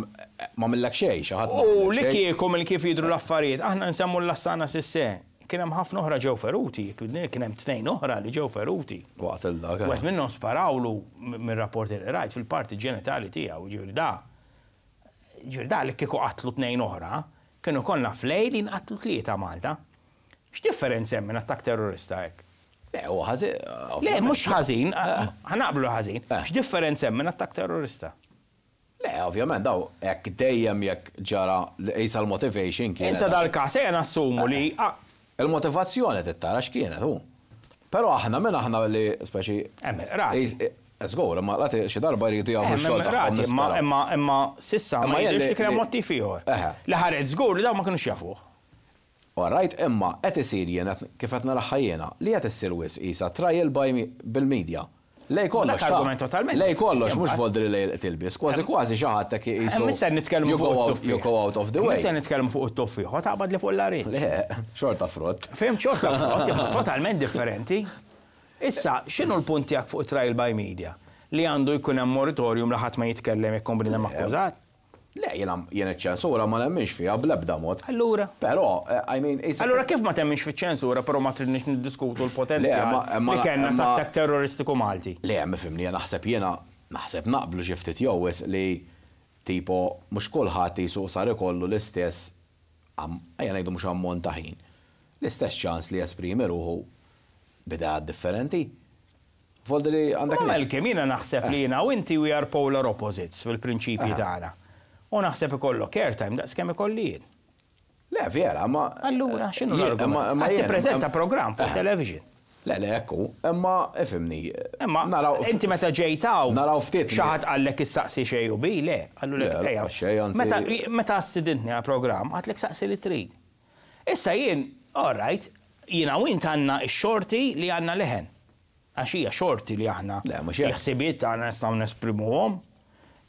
għamillek xejn, xi ħadd ma U għamillek li xejn. kieku mill kif jidru l-affarijiet, aħna nsemmu l-Lassana Sisse, kien hemm ħafna oħra ġew feruti, kien hemm tnejn oħra li ġew feruti. Waqt il-dak. Wieħed minnhom sparawlu mir-rapporti li rajt fil-parti ġenitali tiegħu, ġifieri da. Ġifieri da li kieku qatlu tnejn oħra, kienu konna flej li nqatlu tlieta Malta. X'differenza hemm minn attakk terrorista hekk? Le, huwa ħażin. Le, mhux ħażin, ħa naqblu ħażin. Eh. X'differenza hemm minn attakk terrorista? Le, ovvjament, daw, hekk dejjem jekk ġara qisha l-motivation kienet. Insa dal-każ ejja nassumu li ah, Il-motivazzjoni tittara x'kienet hu. Però aħna minn aħna li speċi. Hemm rati. Żgur, imma rati xi darba jridu jagħmlu Hemm x-xogħol tagħhom rati, imma nispera. imma imma s'issa ma Imma jidhirx jien li kien hemm li- motiv ieħor. Eħe. Li ħareġ żgur li dawn ma kinux jafuh. All right, imma qed isir jien qed- kif qed naraħħa jiena li qed issir wisq qisha trial by me- bil-media. Lej kollox. Dak ta' argument totalment Lej kollox mhux imbagħad. voldri lej il-tilbis, kważi kważi xi ħadd hekk qisu. Hemm issa nitkellmu you fuq go out- it-tuffieħ. You go out of the way. Issa nitkellmu fuq it-tuffieħ, u taqbad li fuq l-larinġ. Le, xorta frott. Fhimt, xorta frott, imma totalment differenti. Issa, x'inhu l-punt tiegħek fuq trial by media? Li għandu jkun hemm moratorium li ħadd ma jitkellem jekk bniedem akkużat? Le, jiena jien iċ-ċensura ma nemminx fiha bl-ebda mod. Allura. Però, eh, I mean, qisha- Allura kif ma temminx fiċ-ċensura, però ma tridniex niddiskutu l-potenzjal Le, ma- ma- li kellna ma- ta' attakk terroristiku Malti? Le, ma fimni, naħseb jiena, naħseb naqblu xi ftit jew wisq li tipo mhux kulħadd jisu sar ikollu l-istess am- ejja ngħidu mhux ammont ta' ħin. L-istess ċans li jesprimi ruħu B'idea differenti. Voldiri għandek. Ma Malcolm, jiena naħseb li jiena u inti we are polar opposites fil-prinċipji tagħna. U naħseb ikollok airtime daqs kemm ikolli jien. Le, vera, ma. Allura, x'inhu l-argument? Qed tippreżenta programm fuq television. Le, le, ekku, imma ifhimni. Imma inti meta ġejtaw. Naraw ftit. Xi ħadd qallek issaqsi xejn u bi, le. Qallu lek, Meta stidintni għal programm, għedtlek saqsi li trid. Issa jien, all right, jiena u int għandna x-xorti li għandna leħen. Għax hija xorti li aħna l-ħsibiet tagħna nistgħu nesprimuhom.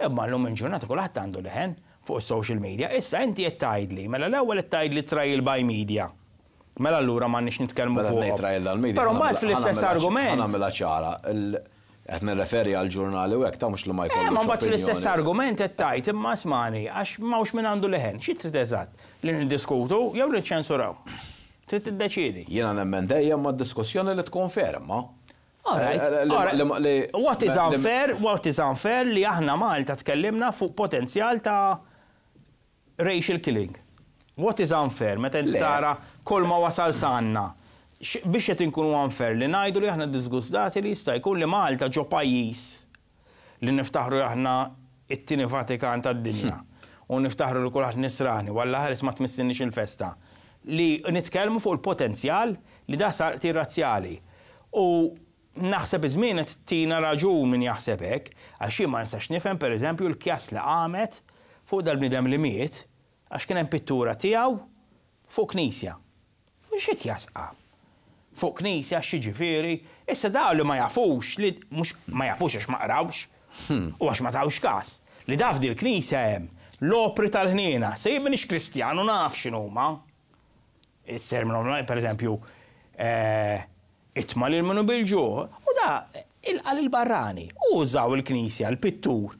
Imma llum il-ġurnata kulħadd għandu leħen fuq social media. Issa inti qed tgħidli, mela l-ewwel qed tgħidli trial by media. Mela allura m'għandniex nitkellmu fuq. Però mbagħad fl-istess argument. Ħa nagħmilha ċara, qed nirreferi għal ġurnali u hekk ta' mhux li ma jkollux. Eh, ma mbagħad fl-istess argument qed tgħid imma smani għax m'hawnx min għandu leħen. Xi trid eżatt? Li niddiskutu jew li ċensuraw? Trid tiddeċiedi. Jiena nemmen dejjem ma' diskussjoni li tkun ferma. Alright. What is unfair, what is unfair li aħna Malta tkellimna fuq potenzjal ta' racial killing. What is unfair? Meta inti tara kull ma wasal s'għandna. Biex qed inkunu unfair li ngħidu li aħna disgustati li jista' jkun li Malta ġo pajjiż li niftaħru aħna it-tieni Vatikan tad-dinja u niftaħru li kulħadd nisrani walla ħares ma tmissinniex il-festa li nitkellmu fuq il-potenzjal li da sar razzjali. U naħseb iż-żmien qed tina raġun min jaħseb hekk, għax jien ma nistax nifhem pereżempju l-kjas li qamet fuq dal-bniedem li miet għax kien hemm pittura tiegħu fuq knisja. U xi kjas qam? Fuq knisja xi issa daw li ma jafux li mhux ma jafux għax ma qrawx u għax ma tawx każ. Li daf dil knisja hemm l-opri tal-ħniena, se jien m'iniex Kristjanu naf x'inhuma. Is-sermon, per eżempju, eh, itma' lil min hu bil-ġuħ, u da ilqa' il-barrani, u użaw il-knisja, l-pittur,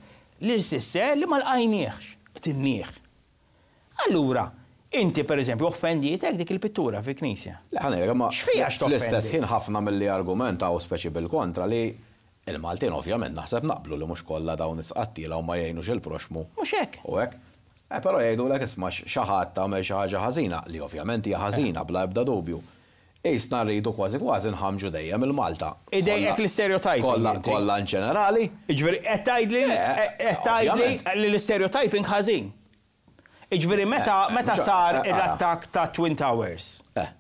lil sisse li ma lqajniex, tinnieħ. Allura, inti per eżempju offendietek dik il-pittura fi knisja. Le, ħa ngħidlek, ma X'fiha fl-istess ħin ħafna mill-li argumentaw speċi bil-kontra li il-Maltin ovvjament naħseb naqblu li mhux kollha dawn is-qattila u ma jgħinux il-proxmu. Mhux hekk. U hekk. Eh, però jgħidulek isma' xi ħadd tagħmel xi ħaġa ħażina li ovvjament hija ħażina bla ebda dubju. Issa rridu kważi kważi nħamġu dejjem il-Malta. Idejqek l-stereotyping. Kollha kollha in ġenerali. Jiġifieri qed tgħidli qed tgħidli li l-stereotyping ħażin. Jiġifieri meta meta sar l-attakk ta' Twin Towers. Eh.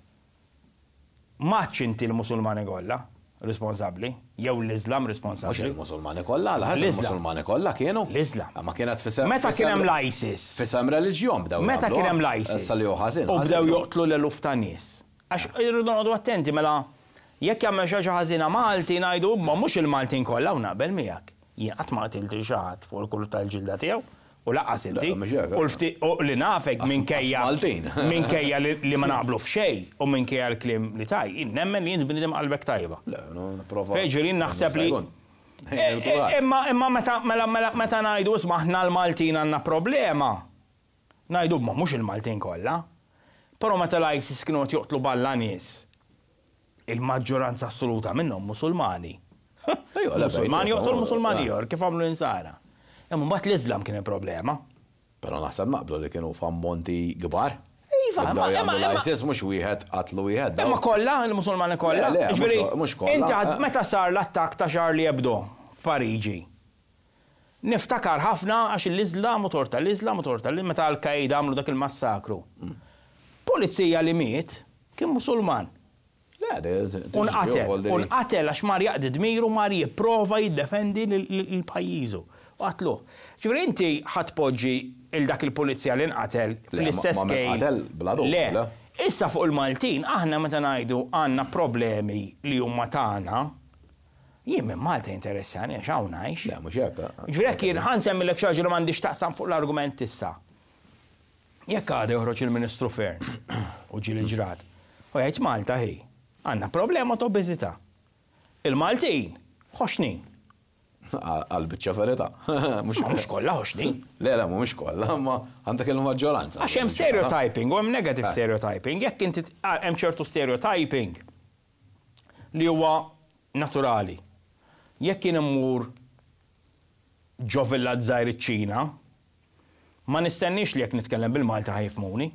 Maċ inti l-Musulmani kollha responsabbli, jew l-Islam responsabbli. Mhux il-Musulmani kollha, għal il-Musulmani kollha kienu. L-Islam. Ma kienet f'isem. Meta kien hemm l-ISIS. F'isem reliġjon bdew. Meta kien hemm l-ISIS. Issa li hu ħażin. U bdew joqtlu l-eluf ta' nies. Għax irridu noqogħdu attenti mela jekk jagħmel xi ħaġa ħażina Malti ngħidu ma mhux il-Maltin kollha u naqbel miegħek. Jien qatt ma qtilt xi ħadd fuq il-kulur tal-ġilda tiegħu u lanqas inti. U li nafek minkejja minkejja li ma naqblu f'xejn u minkejja l-kliem li taj, jien nemmen li jien bniedem qalbek tajba. Le, nipprova. Jiġifieri naħseb li Imma imma meta mela meta ngħidu isma' aħna l-Maltin għandna problema. Ngħidu ma mhux il-Maltin kollha. Però meta l-ISIS kienu qed joqtlu balla nies, il-maġġoranza assoluta minnhom Musulmani. Musulmani joqtlu l-Musulmani ieħor kif għamlu insara. Imma mbagħad l-Islam kien il-problema. Però naħseb naqblu li kienu f'ammonti kbar. Iva, Bdew jagħmlu l-ISIS mhux wieħed qatlu wieħed. Imma kollha, il-Musulmani kollha. Le, mhux kollha. Inti meta sar l-attakk ta' Charlie Hebdo f'Pariġi. Niftakar ħafna għax l-Islam u torta l-Islam u torta meta Al-Qaeda għamlu dak il-massakru. Pulizija li miet kien Musulman. Le, Unqatel, unqatel għax mar jaqdi dmiru mar jipprova jiddefendi l-pajjiżu. U qatluh. Ġifieri inti ħa tpoġġi il dak il-pulizija li nqatel fl-istess kejl. Le. Issa fuq il-Maltin, aħna meta ngħidu għandna problemi li huma tagħna, jien minn Malta interessani għax hawn ngħix. Le, mhux hekk. Ġifieri jekk jien ħa nsemmilek xi ħaġa li m'għandix taqsam fuq l-argument issa. Jekk għada joħroġ il-Ministru Fearne u ġieli ġrat, u jgħid Malta hi, għandna problema ta' obeżità. Il-Maltin, ħoxnin. Għal-biċċa verità. Mhux kollha ħoxnin. Le, le, mhux kollha, ma għandek il-maġġoranza. Għax hemm stereotyping u hemm negative stereotyping. Jekk inti hemm ċertu stereotyping li huwa naturali. Jekk jien immur ġo villaġġ żgħir iċ-Ċina, ma nistennix li jekk nitkellem bil-Malta ħa jifhmuni.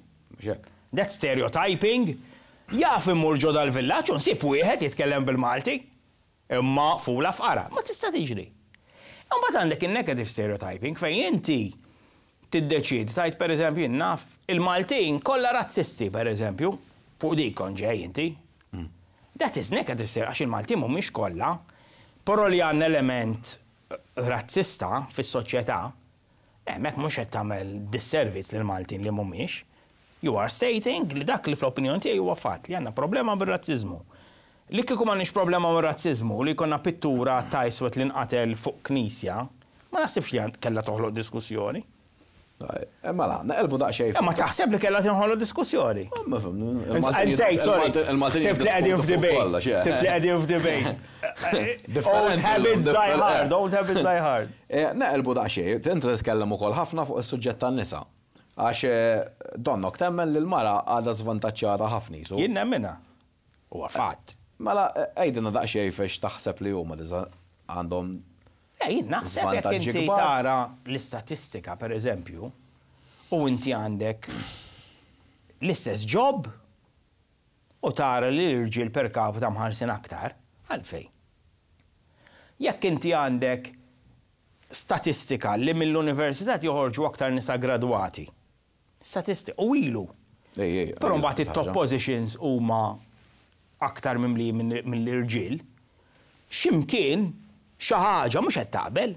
That stereotyping Jaf immur ġo dal-villaġġ u nsib wieħed jitkellem bil-Malti. Imma fula fqara. Ma tista' tiġri. Imbagħad għandek in-negative stereotyping fejn inti tiddeċidi tgħid, pereżempju, naf il-Maltin kollha razzisti, pereżempju, fuq dik kont ġej inti. That is negative stereotyping, għax il-Maltin mhumiex kollha, però li għandna element razzista fis-soċjetà, hemmhekk mhux qed tagħmel disservice lil Maltin li mhumiex. You are stating li dak li fl-opinjoni tiegħi huwa fatt li għandna problema bir-razziżmu. Li kieku m'għandniex problema bir-razziżmu li jkollna pittura ta' iswed li nqatel fuq knisja, ma naħsibx li għand kellha toħloq diskussjoni. Mela, naqelbu daqsxejn. Ma taħseb li kellha tinħoloq diskussjoni? Ma fim, Sej, sorry. Sibt li qegħdin f'debate. Sibt li qegħdin f'debate. Old habits die hard, old habits die hard. Naqelbu daqsxejn, inti titkellem ukoll ħafna fuq is-suġġett tan-nisa. Għax donnok temmen li l-mara għadha żvantaġġjata ħafna. Jien nemminha. Huwa fatt. Mela, għidilna daqsxejn fex taħseb li huma għandhom Jien naħseb jekk inti tara l-istatistika, per eżempju, u inti għandek l-istess job u tara li l-irġiel per capita mħallsin aktar, għalfejn. Jekk inti għandek statistika li mill-università joħorġu aktar nisa gradwati. Statistika, u ilu. Però mbagħad it-top positions huma aktar mimli mill-irġiel, x'imkien xi ħaġa mhux qed taqbel.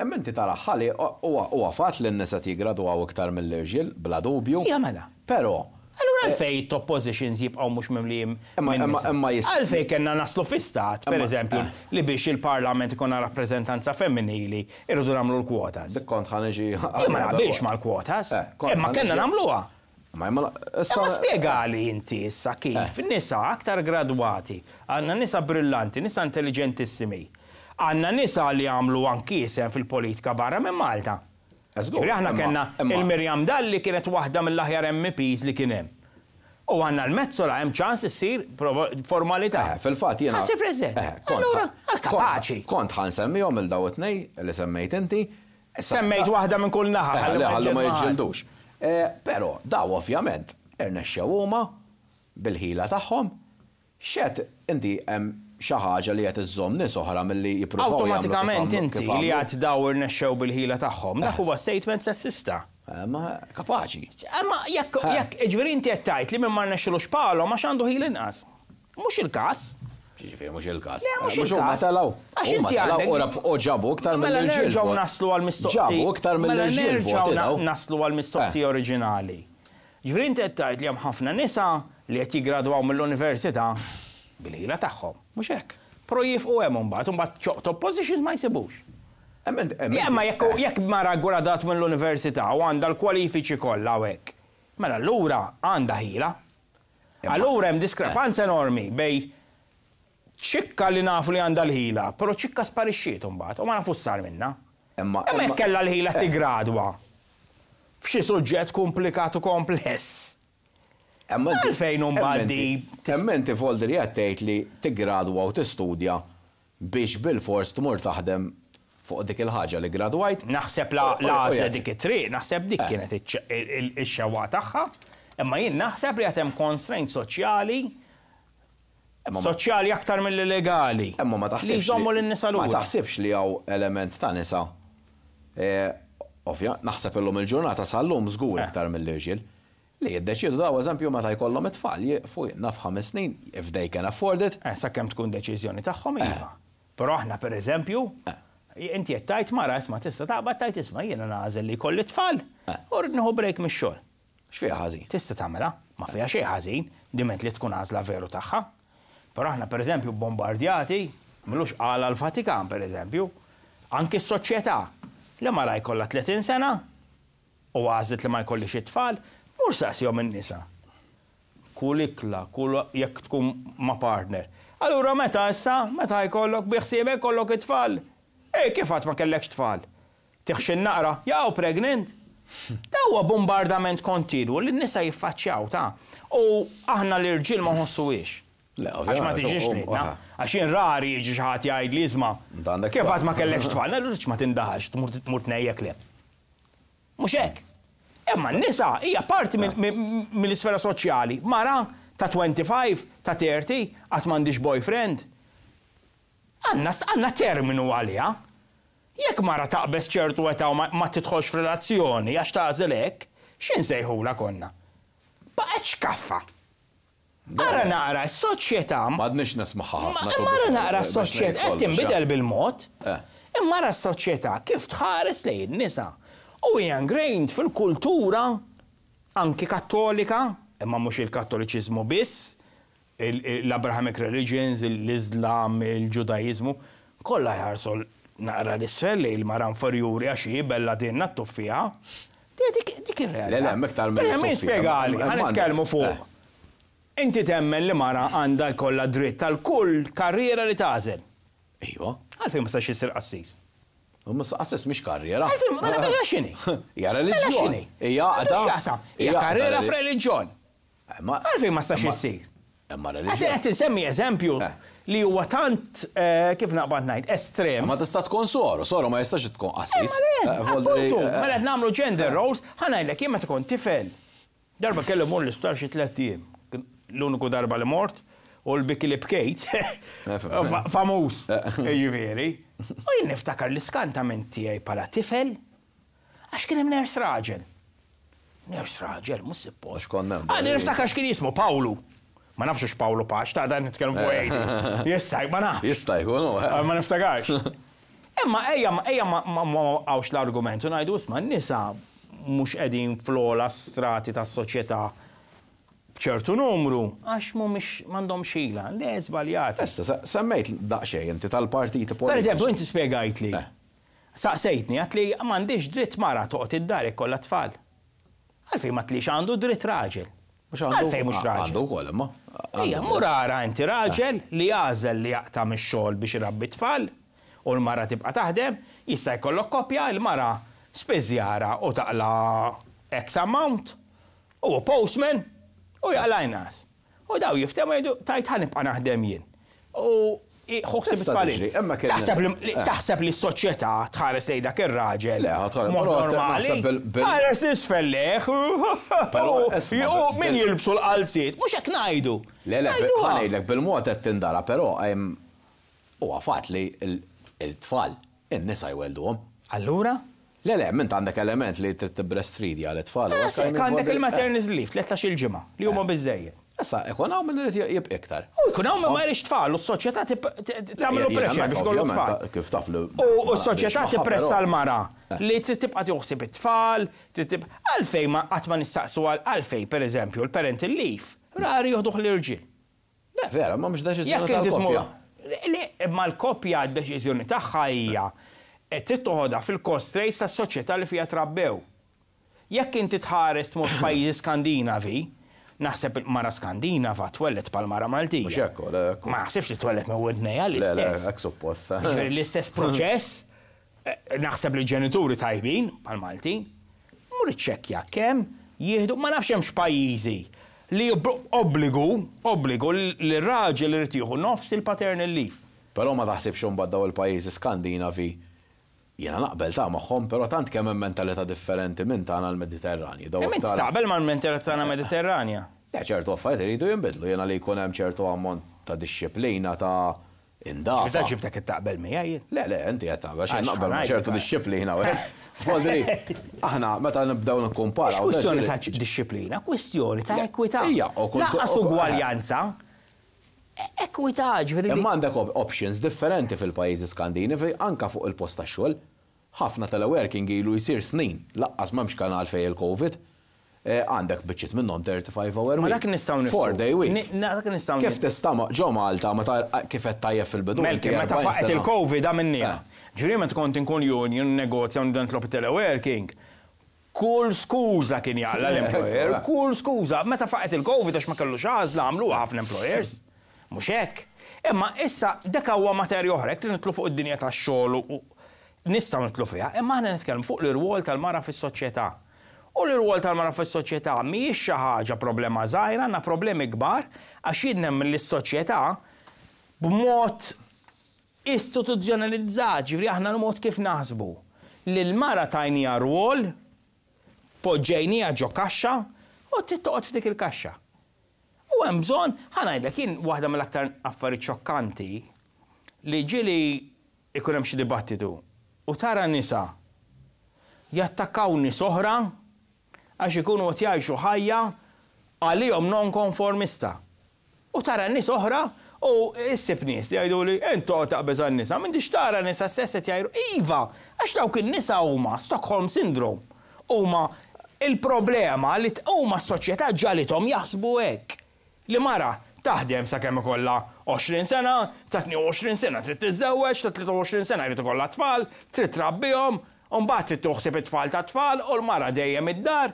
Imma inti tara ħalli huwa fatt li n-nisa jigradwaw iktar mill-irġiel, bla dubju. Ija mela. Però Allura għalfejn top positions jibqgħu mhux mimlijin? Imma Għalfejn kellna naslu fi stat, per eżempju, li biex il-parlament ikun rappreżentanza femminili irridu nagħmlu l-kwotas. Dik kont ħa niġi. Ma naqbilx mal-kwotas. Imma kellna nagħmluha. Ma imma Imma spjegali inti issa kif nisa aktar gradwati, għandna nisa brillanti, nisa intelligentissimi, għandna nisa li għamlu anki isem fil-politika barra minn Malta. Ġifieri aħna kellna il-Mirjam Dalli, kienet waħda mill-aħjar M Ps li kien hemm. U għandna l-Metsola, hemm ċans issir formalità. Eh, fil-fatt jiena. Ħa ssir president. Allura, għal kapaċi. Kont ħa nsemmihom il daw it-tnej li semmejt inti. Semmejt waħda minn kull naħa. Eh, ħallu ma jiġġildux. Eh, però daw ovvjament irnexxew huma bil-ħila tagħhom. Xet inti hemm xi ħaġa li qed iżżomm nies oħra milli jippruvaw Awtomatikament inti li għad daw irnexxew bil-ħila tagħhom, dak huwa statement sessista. Eh, ma kapaċi. Ma jekk jekk ġifieri inti qed tgħid li minn ma rnexxilux palhom għax għandu ħil inqas. Mhux il-każ. Ġifieri mhux il-każ. Le, mhux il-każ. telgħu. Għax inti għandek. U ġabu iktar Mela mill-irġiel. nerġgħu naslu għal-mistoqsija. Ġabu iktar mill-irġiel. Mela nerġgħu naslu għal-mistoqsija oriġinali. Ġifieri inti qed tgħid li hemm ħafna nisa li qed jiggradwaw mill-università bil-ħila tagħhom. Mhux hekk. Però jieqfu hemm imbagħad, imbagħad top positions ma jsibux. Imma jekk jekk mara gradat mill-università u għandha l-kwalifiċi kollha u hekk, mela allura għandha ħila. Allura hemm diskrepanza enormi bejn ċikka li nafu li għandha l-ħila, però ċikka sparixxiet imbagħad u ma nafu sar minna. Imma Imma jekk kellha l-ħila tigradwa f'xi suġġett komplikat u kompless. Għalfejn imbagħad di Imma inti foldi li qed tgħid li tiggradwa u tistudja biex bil-fors tmur taħdem fuq dik il-ħaġa li gradwajt. Naħseb la għażla dik it-triq, naħseb dik kienet ix-xewqa tagħha, imma jien naħseb li hemm constraint soċjali soċjali aktar mill-legali. Imma ma taħsibx. Li jżommu lin-nisa Ma taħsibx li hawn element ta' nisa. Ovvja, naħseb illum il-ġurnata sal-lum żgur iktar mill-irġiel li jiddeċidu daw, eżempju, meta jkollhom it-tfal jieqfu naf ħames snin, if they can afford it. Eh, sakemm tkun deċiżjoni tagħhom, iva. Però aħna, pereżempju, inti qed tgħid mara, isma', tista' taqbad tgħid, isma', jiena nagħżel li jkolli tfal u rrid nieħu break mix-xogħol. X'fiha ħażin? Tista' tagħmilha, ma fiha xejn ħażin, diment li tkun għażla veru tagħha. Però aħna, pereżempju, bombardjati, m'ilux qala l-Vatikan, pereżempju, anki s-soċjetà li mara jkollha tletin sena u għażlet li ma jkollix it-tfal, mur saqsihom in-nisa. Kull ikla, kull jekk tkun ma' partner. Allura meta issa, meta jkollok biħsiebek kollok it-tfal? Ej, kif għad ma kellekx tfal? Tiħxin naqra, jaw pregnant. Da huwa bombardament kontinwu li n-nisa jiffaċċjaw ta' u aħna l-irġiel ma nħossuhiex. Le, Għax ma tiġix lilna. Għax jien rari jiġi xi ħadd jgħid li, isma', Int għandek kif tfal. għad ma kellekx tfal, ngħidu ma tindaħalx, tmur tnejjek le. Mhux hekk. Imma n-nisa hija parti mill- mill- mill-isfera soċjali. Mara Ta' twenty-five, ta' thirty, għad m'għandix boyfriend. Għandna għandna terminu għaliha. Jekk mara taqbeż ċertu età u ma tidħolx f'relazzjoni għax tagħżel hekk, x'insejħulha konna? Baqgħet xkaffa. Ara naqra s-soċjetà. M'għadniex nismagħha ħafna. Imma ara naqra s-soċjetà qed tinbidel bil-mod. Imma ara s-soċjetà kif tħares lejn nisa. U hija ingrained fil-kultura anki kattolika, imma mhux il-Kattoliċiżmu biss, l-Abrahamic religions, l-Islam, il-Ġudaizmu, kollha jħarsu naqra l-isfel li l-mara inferjuri għax hi bella dinna t-tuffija. Dik ir-realtà. Le, le, miktar mill Min spjegali, ħa nitkellmu fuq. Inti temmen li mara għandha jkollha dritt tal kull karriera li tagħżel. Iva. Għalfejn ma stax issir qassis? Mhux qassis mhix karriera. Għalfejn, mela mela x'inhi? Hija reliġjon. Hija għaqda. Hija karriera f'reliġjon. Għalfejn ma stax issir? Imma reliġjon. Qed insemmi eżempju li huwa tant, kif naqbad ngħid, estrem. Ma tista' tkun soru, soru ma jistax tkun qassis. Appuntu, mela qed nagħmlu gender roles, ħa ngħidlek jien meta kont tifel. Darba kelli mmur l-isptar xi tliet ijiem. L-uniku darba li mort u l-biki li bkejt. Famuż, jiġifieri. U jien niftakar l-iskantament tiegħi bħala tifel għax kien hemm nurse raġel. Nurse raġel, mhux suppost. Għandi niftakar x'kien jismu Pawlu. Ma nafx Pawlu Pax, ta' dan nitkellmu fuq eighty. Jista' ma nafx. Jista' jkun. Ma niftakarx. Imma ejja ejja ma għawx l-argument u ngħidu isma' n-nisa mhux qegħdin fl-ogħla strati tas-soċjetà b'ċertu numru għax mhumiex m'għandhomx ħila. Le, żbaljati. Issa semmejt daqsxejn inti tal-partiti politiċi. Pereżempju, inti spjegajtli. Saqsejtni għedt li m'għandix dritt mara toqgħod id-dar ikollha tfal. Għalfejn ma tlix għandu dritt raġel. Għalfejn mhux raġel. Għandu wkoll imma. Ejja, mur ara inti raġel li jagħżel li jaqta' mix-xogħol biex irabbi tfal u l-mara tibqa' taħdem, jista' jkollok koppja, il-mara spiżjara u taqla X amount, u postman u jaqla inqas. U daw jiftehmu jgħidu tajt ħa nibqa' naħdem jien. U ħuħsib it-tfal. Taħseb li s-soċjetà tħares lejn dak ir-raġel. Le, normali. Tħares isfel lejh. U min jilbsu l-qalziet, mhux hekk ngħidu. Le, le, ħa ngħidlek bil-mod qed tindara, però huwa fatt li l-tfal in-nisa jwelduhom. Allura? Le, le, mint għandek element li trid tibreastfeedja l-tfal. Għandek il-maternity leave, tlettax-il ġimgħa, li huma biżejjed. Issa, ikun hawn min irid jibqa' iktar. U jkun hawn min ma jridx tfal, u s-soċjetà tagħmlu pressure biex kollu tfal. Kif taf li. U s-soċjetà tippressa l-mara li trid tibqa' tieħu it-tfal, għalfejn ma qatt ma nistaqsu għalfejn, pereżempju, l-parental leave, rari joħduh l-irġiel. Le, vera, ma mhux deċiżjoni tal-koppja. Le, imma l-koppja d-deċiżjoni tagħha hija trid toħodha fil-constraints tas-soċjetà li fiha trabbew. Jekk inti tħares tmur f'pajjiżi Skandinavi, naħseb mara Skandinava twellet bħal mara Maltija. Mhux hekk, le, hekk. Ma naħsibx li twellet minn widnejha Le, le, l-istess. hekk suppost. Jiġifieri l-istess proċess, naħseb li ġenituri tajbin bħal Maltin, mur iċċekkja kemm jieħdu, ma nafx hemmx pajjiżi li obbligu, obbligu li r-raġel irid jieħu nofs il-paternal leave. Però ma taħsibx imbagħad daw il-pajjiżi Skandinavi jiena naqbel ta' magħhom, però tant kemm hemm mentalità differenti minn tagħna l-Mediterranji. Kemm inti taqbel mal-mentalità tagħna Mediterranja? Le, ċertu affarijiet iridu jinbidlu, jiena li jkun hemm ċertu ammont ta' dixxiplina ta' indafa. Meta ġibtek qed taqbel miegħi jien? Le, le, inti qed taqbel, xejn naqbel ma' ċertu dixxiplina. Fodri, aħna meta nibdew nikkumparaw. Mhux kwistjoni ta' dixxiplina, kwistjoni ta' ekwità. Ija, u kull Lanqas ugwaljanza. Ekwità, ġifieri. Imma għandek options differenti fil-pajjiżi Skandinavi anka fuq il-post tax-xogħol. Ħafna teleworking ilu jsir snin, laqqas m'hemmx kanal fejn il-Covid. Għandek biċċiet minnhom thirty-five hour week. Ma dak nistgħu niftu. Four day week. Dak nistgħu Kif tista' ġo Malta meta kif qed tajjeb fil-bidu? Melki, meta faqet il-Covid għamilniha. Ġifieri meta kont inkun union negozja u nibda nitlob teleworking. Kull skuża kien jaqla l-employer, kull skuża. Meta faqet il-Covid għax ma kellux għażla għamluha ħafna employers. Mhux hekk. Imma issa dak huwa materja oħra, jekk nitlu fuq id-dinja tax-xogħol u nistgħu nitlu fiha, imma aħna nitkellmu fuq l-irwol tal-mara fis-soċjetà. U l-irwol tal-mara fis-soċjetà mhijiex xi ħaġa problema żgħira, għandna problemi kbar għax jien nemmen li s-soċjetà b'mod istituzzjonalizzat, ġifieri aħna l-mod kif naħsbu. Li l-mara tajnija rwol, poġġejnija ġo kaxxa u trid toqgħod f'dik il-kaxxa. U U hemm bżonn, ħa ngħidlek, jien waħda mill-aktar affarijiet xokkanti li ġieli ikun hemm xi dibattitu u tara nisa jattakkaw nies oħra għax ikunu qed jgħixu ħajja għalihom non-konformista. U tara nies oħra u issib nies li jgħidu li intu taqbeż għan-nisa, m'intix tara nisa stess qed jgħidu iva, għax dawk in-nisa huma Stockholm Syndrome. Huma il-problema li huma s-soċjetà ġalithom jaħsbu hekk. Li mara taħdem sakemm ikollha għoxrin sena, ta' tnejn u għoxrin sena trid tiżżewweġ, ta' tlieta u għoxrin sena jrid ikollha tfal, trid trabbihom, u mbagħad trid toħseb it-tfal ta' tfal u l-mara dejjem id-dar.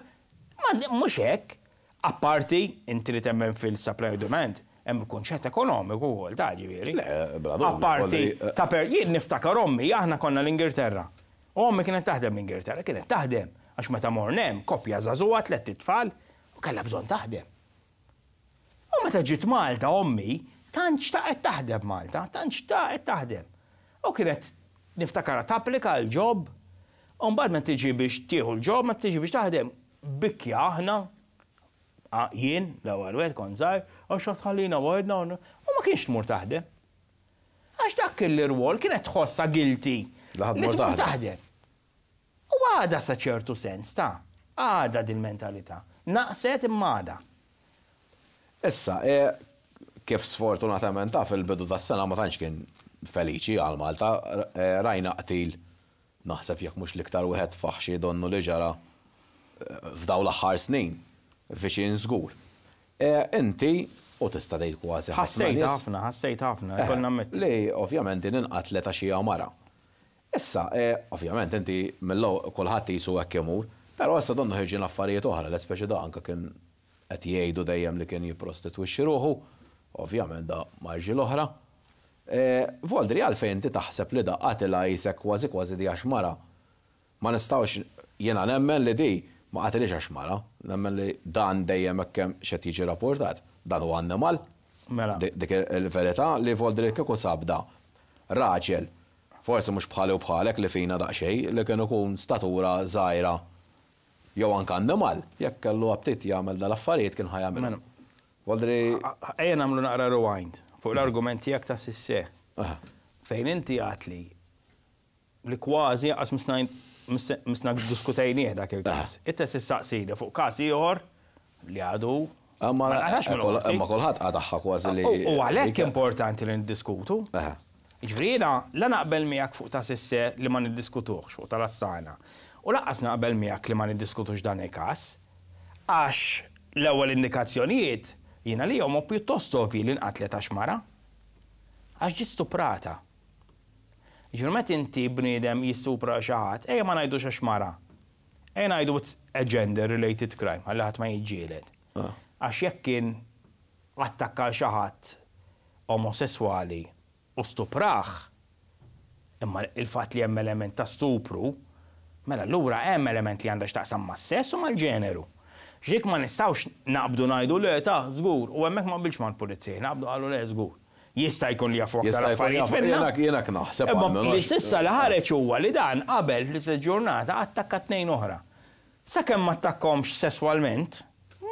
Ma mhux hekk. Apparti, inti li temmen fil-supply u demand, hemm kunċett ekonomiku wkoll ta' ġifieri. Le, bla dubju, Apparti kolli- ta' per jien niftakar ommi, aħna konna l-Ingilterra. U ommi kienet taħdem l-Ingilterra, kienet taħdem għax meta morna hemm koppja żagħżugħa, tliet itfal, u kellha bżonn taħdem. U meta ġiet Malta ommi, tant xtaqet taħdem Malta, tant xtaqet taħdem. U kienet niftakara tapplika l-job, u mbagħad meta tiġi biex tieħu l-job, meta tiġi biex taħdem, bikja aħna, ah, jien, l-ewwel wieħed kont żgħir, għax tħallina waħedna, u ma kienx tmur taħdem. Għax dak il-rwol kienet tħossha guilty Li ħadd li mur tmur taħdem. taħdem. U għada sa ċertu sens ta' għada dil-mentalità. Naqset imma għada. Issa, e, kif sfortunatament ta' fil-bidu tas-sena ma tantx kien feliċi għal Malta, e, rajna qtil, naħseb jekk mhux l-iktar wieħed faħxi donnu li ġara e, f'daw l-aħħar snin, viċin żgur. E, Inti, u tista' tgħid kważi ħafna Ħassejt nies, ħafna, ħassejt ħafna, Eh, konna nammetti. Li ovvjament din inqatlet għax hija mara. Issa, eh, ovvjament inti mill kulħadd jisu hekk imur, però issa donnu ħirġin affarijiet oħra, l speċi da anke kien qed jgħidu dejjem li kien jipprostitwixxi ruħu, ovvjament da ma' rġiel oħra. Eh, Voldri, għalfejn inti taħseb li da qatilha jisek kważi kważi di għax mara? Ma nistgħux, jiena nemmen li di ma qatilix għax mara, nemmen li dan dejjem hekk hemm x'qed jiġi rapportat, dan huwa annimal. Mela. Dik dik il-verità li Voldri kieku sab da raġel, forsi mhux bħali u bħalek li fina daqsxejn, li kien ikun statura żgħira jew anke annimal, jekk kellu aptit jagħmel dal-affarijiet kien ħa jagħmel. Mela. Voldri Ejja nagħmlu naqra rewind fuq l-argument tiegħek ta' Sisse. Aha. Fejn inti għatli li kważi għas misna diskutejnieh dak il-każ. Inta sissaqsini fuq każ ieħor li għadu Imma ma naqtax mill-qorti. imma kulħadd qatagħha kważi li. U u għalhekk li- importanti li niddiskutu. Aha. Ġifieri jiena la naqbel miegħek fuq ta' Sisse li ma niddiskutuhx fuq tal-Assana. U lanqas naqbel miegħek li ma niddiskutux dan il-każ. Għax l-ewwel indikazzjonijiet jiena li huma pjuttost ovvi li nqatlet għax mara. Għax ġiet stuprata. Ġifieri meta inti bniedem jistupra xi ħadd, ejja ma ngħidux għax mara. Ejja ngħidu it's a gender related crime, ħalli ħadd ma jiġġieled. Ah. Għax jekk kien attakka xi ħadd omosessuali u stupraħ, imma il-fatt li hemm element ta' stupru, mela allura hemm element li għandha x'taqsam mas-sess u mal-ġeneru. Ġik ma nistgħux naqbdu ngħidu le ta' żgur, u hemmhekk ma qbilx mal-pulizija, naqbdu qalu le żgur. Jista' jkun li jafu aktar Jista' jkun affarijiet jafu- minna. jiena- jiena naħseb Imma għalmenu li għax- s'issa li ħareġ huwa li dan qabel fl-istess ġurnata attakka tnejn oħra. Sakemm ma attakkomx sesswalment,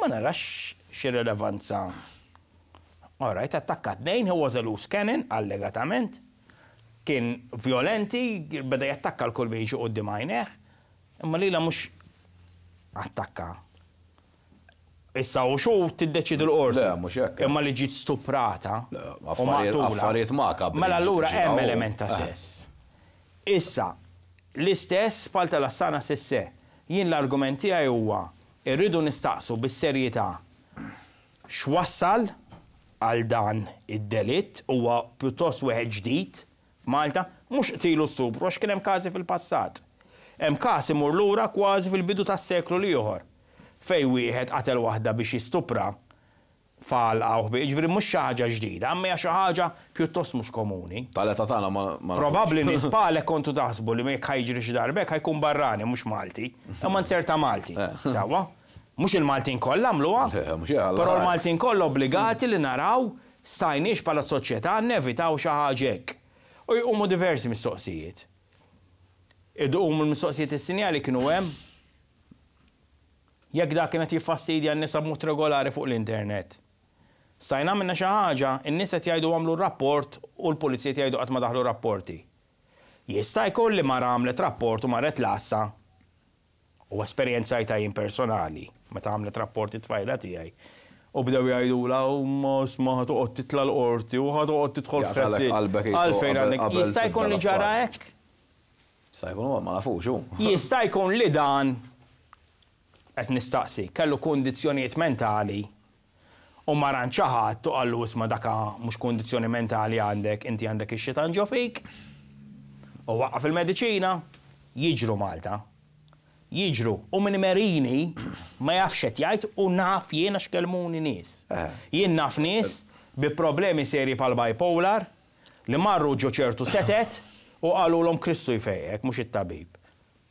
ma narax xi rilevanza. All right, attakka tnejn, he was a loose cannon, allegatament. Kien violenti, beda jattakka l-kull min jiġi quddiem għajnejh, imma lila mhux attakka. Issa u xu tiddeċidu l-qorti. Le, mhux hekk. Imma li ġiet stuprata. Le, u affarijiet- maqtula. affarijiet makabri Mela allura ġraw. hemm element ta' Eh. sess. Issa, l-istess bħal tal-Assana Sisse. Jien l-argument tiegħi huwa irridu nistaqsu bis-serjetà x'wassal għal dan id-delitt, huwa pjuttost wieħed ġdid f'Malta, mhux qtilu stupru għax kien hemm każi fil-passat. Hemm każ imur lura kważi fil-bidu tas-seklu l-ieħor fejn wieħed qatel waħda biex jistupra fal ħbi, ġifieri mhux xi ħaġa ġdida, imma hija xi ħaġa pjuttost mhux komuni. Tal-età tagħna ma ma nafux. Probabbli nies bħalek kontu taħsbu li jekk ħa jiġri xi darba hekk ħa jkun barrani mhux Malti, imma nzerta Malti. Eh. Sewwa? Mhux il-Maltin kollha għamluha, Le, mhux hekk, però alla l-Maltin kollha obbligati li naraw stajniex bħala soċjetà nevitaw xi ħaġa hekk. U jqumu diversi mistoqsijiet. Iduqmu l-mistoqsijiet, is-sinjali kienu hemm. Jekk dak kienet jiffastidja n-nisa b'mod regolari fuq l-internet. Stajna minna xi ħaġa, in-nies qed jgħidu għamlu rapport u l-pulizija jgħidu qatt ma daħlu rapporti. Jista' jkun li mara għamlet rapport u marret l-għassa u esperjenzajtha jien personali meta għamlet rapport it-tfajla tiegħi. U bdew jgħidula u ma isma' ħa toqgħod titla' l-qorti u ħa toqgħod tidħol Jaqtalek f'ħessi. qalbek qisu Għalfejn qabel- għandek. qabel Jista' jkun li tibda ġara l-affari. hekk? Jista' jkun ma nafux hu. Jista' jkun li dan qed nistaqsi, kellu kundizzjonijiet mentali u mar għand xi ħadd u qallu isma' daka mhux kundizzjoni mentali għandek, inti għandek ix-xitan ġo fik. U waqqaf il-mediċina, jiġru Malta. Jiġru. U minn merini ma jafx qed jgħid u naf jiena x'kelmuni nies. Eh. Jien naf nies bi problemi serji pal bipolar li marru ġo ċertu setet u qalulhom Kristu jfejjek, mhux it-tabib.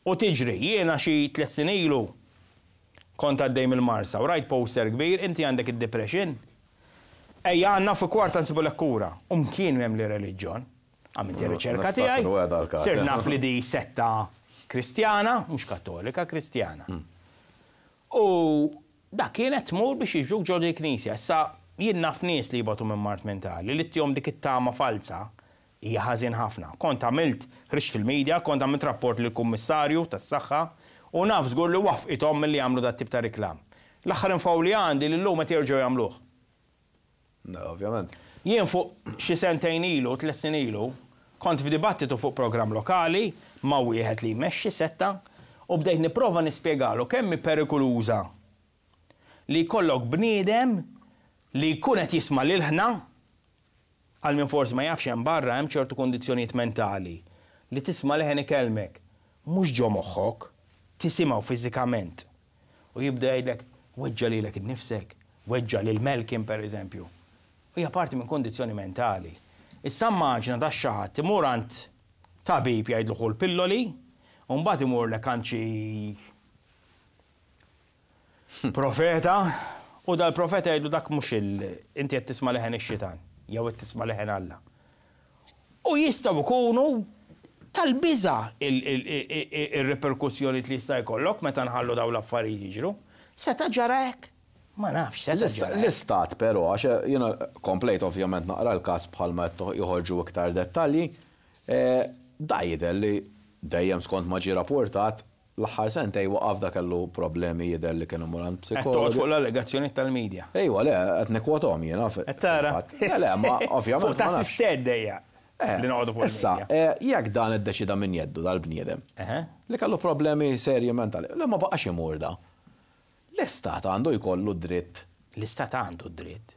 U tiġri, jiena xi tliet snin ilu kont għaddej mill-Marsa u rajt poster kbir, inti għandek id-depression. Ejja għandna fi kwarta nsibu kura. U mkien m'hemm li reliġjon. Għamilt ir-riċerka tiegħi. Niftakru għeda l-każ, Sir eh. naf li di setta kristjana, mhux kattolika, kristjana. U da kienet tmur biex jiġuk ġo di knisja. Issa jien naf nies li jibatu minn mard mentali, li ttihom dik it-tama falsa hija ħażin ħafna. Kont għamilt ħriġt fil-medja, kont għamilt rapport lill kummissarju tas-saħħa u naf żgur li waffqithom milli jagħmlu dat tip ta' reklam. L-aħħar info li għandi li llum qed jerġgħu jagħmluh. No, ovvjament. Jien fuq xi sentejn ilu, tliet snin ilu, kont f'dibattitu fuq programm lokali ma' wieħed li jmexxi setta u bdejt nipprova nispjegalu kemm hi perikoluża li jkollok bniedem li jkun qed jisma' lil-ħna għal min forsi ma jafx hemm barra hemm ċertu kondizzjonijiet mentali li tisma' leħen ikellmek mhux ġo moħħok, tisimgħu fiżikament. U jibda jgħidlek weġġa' lilek innifsek, weġġa' lil Melkin per eżempju. U hija parti minn kondizzjoni mentali. Issa immaġina da xi ħadd imur għand tabib jgħidlu ħu l-pilloli, u mbagħad imur lek għand xi profeta, u dal-profeta jgħidlu dak mhux il inti qed tisma' leħen ix-xitan, jew qed tisma' leħen Alla. U jistgħu jkunu tal-biża il-reperkussjoni li jista' jkollok meta nħallu dawn l-affarijiet jiġru. Seta' ġara hekk? Ma nafx, seta' ġara hekk. L-istat però, għax jiena komplejt ovvjament naqra l-każ bħalma qed joħorġu iktar dettalji, eh, da jidher li dejjem skont ma ġie rapportat l-aħħar sentej waqaf da kellu problemi jidher li kienu imur għand Qed toqgħod psikologu. fuq l-allegazzjoni tal-medja. Ejwa, le, qed nikkwotom jiena. Qed tara? fil-fatt. Le, le, ma ovvjament. Fuq ta' ma nafx. s-sed dejja Eh, li noqogħdu fuq Issa, il-medja. eh, jekk dan iddeċida minn jeddu dal-bniedem, Eħe. li kellu problemi serji mentali, le ma baqax imur da. L-istat għandu jkollu dritt. L-istat għandu dritt.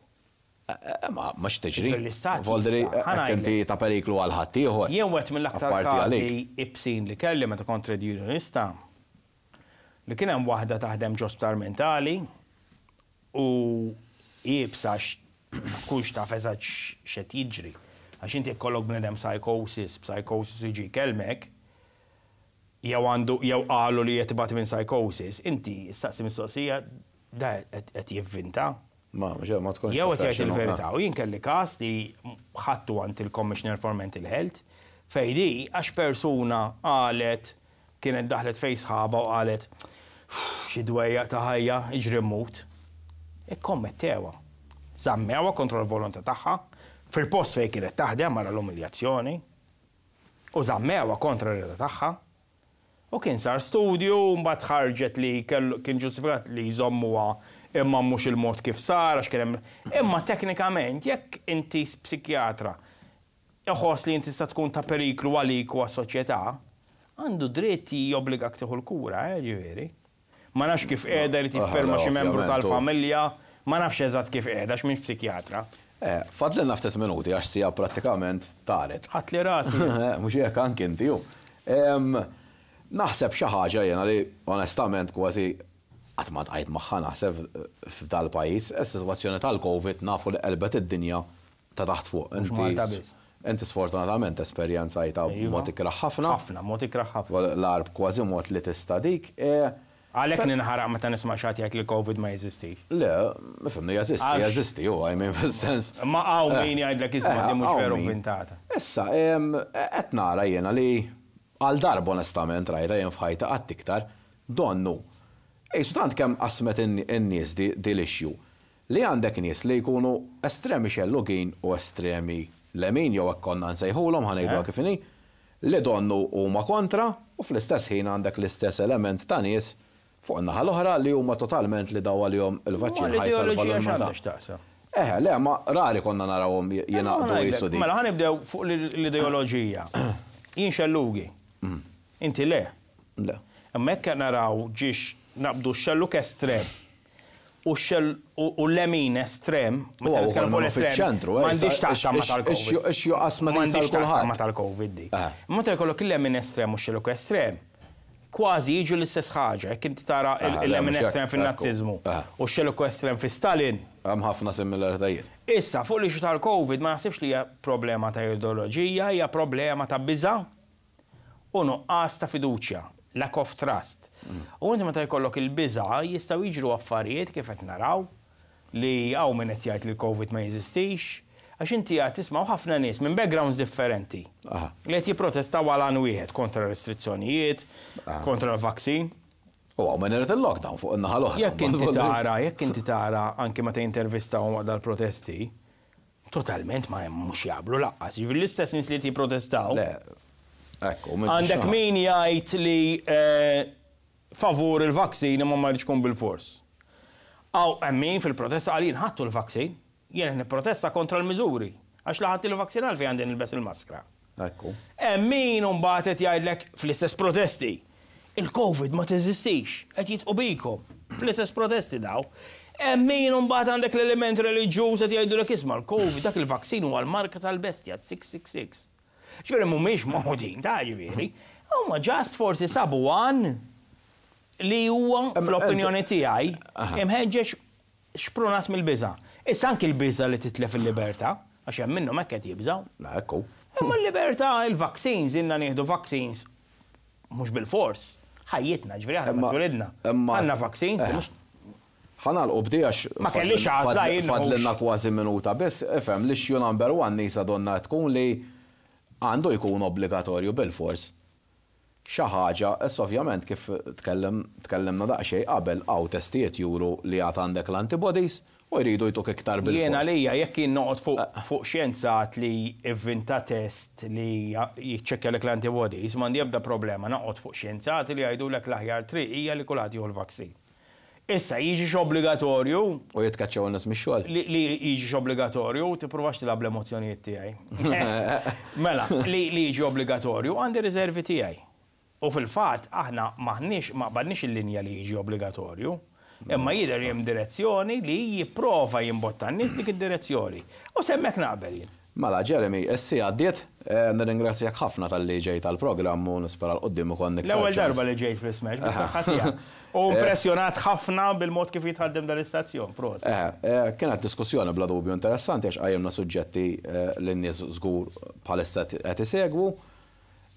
Eh, eh, Ma ma x'tiġri. L-istat Voldri, jista'. Ħa jekk inti ta' periklu għal ħaddieħor. Jien wieħed mill-aktar Apparti każi għalik. ibsin li kelli meta kont trade unionista li kien hemm waħda taħdem ġo sptar mentali u iebsa ma tkunx taf eżatt x'qed jiġri. Għax inti jkollok bniedem psychosis, psychosis jiġi jkellmek, jew għandu jew qalu li qed ibati minn psychosis, inti staqsi mistoqsija da qed jivvinta. Ma, mhux ma tkunx. Jew qed jgħid professional, il-verità. U jien kelli każ li ħadtu għand il-Commissioner for Mental Health fej di għax persuna qalet kienet daħlet fej sħaba u qalet xi dwejja ta' ħajja iġri mmut. Ikkommettewha. Żammewha kontra l-volontà tagħha fil-post fejn kienet taħdem wara l-umiljazzjoni u żammewha kontra r-rieda tagħha. U kien sar studju, mbagħad ħarġet li kellu kien ġustifikat li jżommuha imma mhux il-mod kif sar għax kien hemm. Imma teknikament jekk inti psikjatra iħoss li inti tista' tkun ta' periklu għalik u għas-soċjetà, għandu dritt jobbligak tieħu l-kura, eh, ġifieri. Ma nafx kif qiegħda li tiffirma xi membru ovvjament, u- tal-familja, ma nafx eżatt kif qiegħda għax m'iniex psikjatra. Eh, fadlilna ftit minuti għax sija prattikament taret. Ħadt li rasi. Mhux hekk anki inti ju. Em, Naħseb xi ħaġa jiena li onestament kważi qatt ma tqajt magħha naħseb f'dal pajjiż, is-sitwazzjoni tal-Covid nafu li qelbet id-dinja ta' taħt fuq. Mhux Inti Malta biss. Inti sfortunatament esperjenzajta Iva. mod ikraħ ħafna. Ħafna, mod ikraħ ħafna. L-arb kważi mod li tista' dik. eh, Għalhekk ninħaraq meta nisma' xi ħadd jgħid li l-Covid ma jeżistix. Le, nifhimni jeżisti, Għax- jeżisti, u I mean fis-sens. Ma hawn Eh, min jgħidlek isma' eh, di mhux hawn veru min. vintata. Issa, em, qed nara jiena li għal darba onestament rajta jien f'ħajta qatt iktar, donnu. Ejsu tant kemm qasmet in-nies di di l-issue. Li għandek nies li jkunu estremi xellugin u estremi lemin, jew hekk konna nsejħulhom, ħa ngħidu kif inhi, li donnu huma kontra, u fl-istess ħin għandek l-istess element ta' nies fuq in-naħa l-oħra li huma totalment li daw għalihom il-vaċċin ħa jsalva l-umanità. Eh, le, ma rari konna narawhom jingħaqdu jisu di. Mela ħa nibdew fuq l-ideoloġija. Jien xellugi. Inti le. Le. Imma jekk naraw ġiex naqbdu xelluk estrem u u l-lemin estrem, U nitkellem fuq fiċ-ċentru, m'għandix taqsam ma tal-Covid. Ix qasma M'għandix taqsam ma tal-Covid di. Meta jkollok il-lemin estrem u xelluk estrem, kważi jiġu l-istess ħaġa, jekk inti tara il-lemin estrem fin-Nazzizmu u xelluk estrem fi Stalin. Hemm ħafna similaritajiet. Issa, fuq l tal-Covid ma naħsibx li hija problema ta' ideoloġija, hija problema ta' biża' u nuqqas ta' fiduċja, lack of trust. U inti meta jkollok il-biża' jistgħu jiġru affarijiet kif qed naraw li hawn min qed jgħid li l-Covid ma jeżistix, għax inti qed tismgħu ħafna nies minn backgrounds differenti li qed jipprotestaw għal għan wieħed kontra restrizzjonijiet, kontra l-vaccine. U hawn min irid il-lockdown fuq in-naħa l-oħra. Jekk inti tara, jekk inti tara anki meta jintervistaw waqt dal-protesti, totalment ma mhux jaqblu lanqas. Jiġifieri l-istess nies li jipprotestaw. Le, ekku. Għandek min jgħid li favur il-vaccine imma ma jridx ikun bil-fors. Aw hemm min fil-protesta qal jien ħadtu l-vaccine, jien nipprotesta kontra l-miżuri. Għax la ħadt il-vaccine għalfejn għandi nilbes il-maskra. Ekku. Hemm min mbagħad qed jgħidlek fl-istess protesti. Il-Covid ma teżistix, qed jidħqu bikom. Fl-istess protesti daw. Hemm min mbagħad għandek l-element reliġjuż qed jgħidulek isma' l-Covid dak il-vaccine huwa l-marka tal-bestja six six six. Ġifieri mhumiex magħqudin ta' ġifieri. Huma just forsi sabu għan li huwa fl-opinjoni tiegħi imħeġġeġ xprunat mill-biża'. Issa anki l-biża' li titlef il-libertà, għax hemm minnhom hekk qed jibżgħu. Ekku. Imma l-libertà, il-vaccines, ilna nieħdu vaccines mhux bil-fors. Ħajjitna, ġifieri aħna Imma- twelidna. imma- Għandna vaccines li mhux Ħa nagħlqu b'di għax Ma kellix għażla jien mhux. Fadlilna kważi minuta biss, ifhem l-issue number one nisa donna tkun li għandu jkun obbligatorju bil-fors. Xi ħaġa, issa ovvjament kif tkellem tkellimna daqsxejn qabel hawn testijiet juru li għad għandek l-antibodies u jridu jtuk iktar Jien bil-fors. għalija jekk jien noqgħod fuq fuq xjenzat li ivvinta test li jiċċekkjalek l-antibodies, m'għandi ebda problema noqgħod fuq xjenzati li jgħidulek l-aħjar triq hija li kulħadd jieħu l-vaccine. Issa jiġix obbligatorju U jitkaċċaw n-nies mix-xogħol. li li jiġix obbligatorju, tippruvax tilgħab l-emozzjonijiet tiegħi. Mela, li li jiġi obbligatorju għandi riservi tiegħi. U fil-fatt aħna maħniex ma qbadniex il-linja li jiġi obbligatorju, imma jidher hemm direzzjoni li jipprova jimbotta n-nies dik id-direzzjoni. U s'hemmhekk naqbel jien. Mela, Jeremy, issa għaddiet, eh, nirringrazzjak ħafna talli ġejt tal-programm u nispera 'l quddiem ukoll iktar L-ewwel ċans. darba li ġejt fl-Smash, bis-saħħa tiegħek. U impressjonat ħafna bil-mod kif jitħaddem dal-istazzjon, prosit. Eh, eh, kienet diskussjoni bla dubju interessanti għax qajjimna suġġetti eh, li n-nies żgur bħalissa qed isegwu.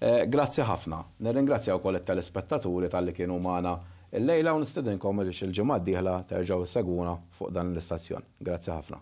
Eh, Grazzi ħafna. Nirringrazzja wkoll it-telespettaturi talli kienu magħna illejla u nistedinkom biex il-ġimgħa d-dieħla terġgħu ssegwuna fuq dan l-istazzjon. Grazzi ħafna.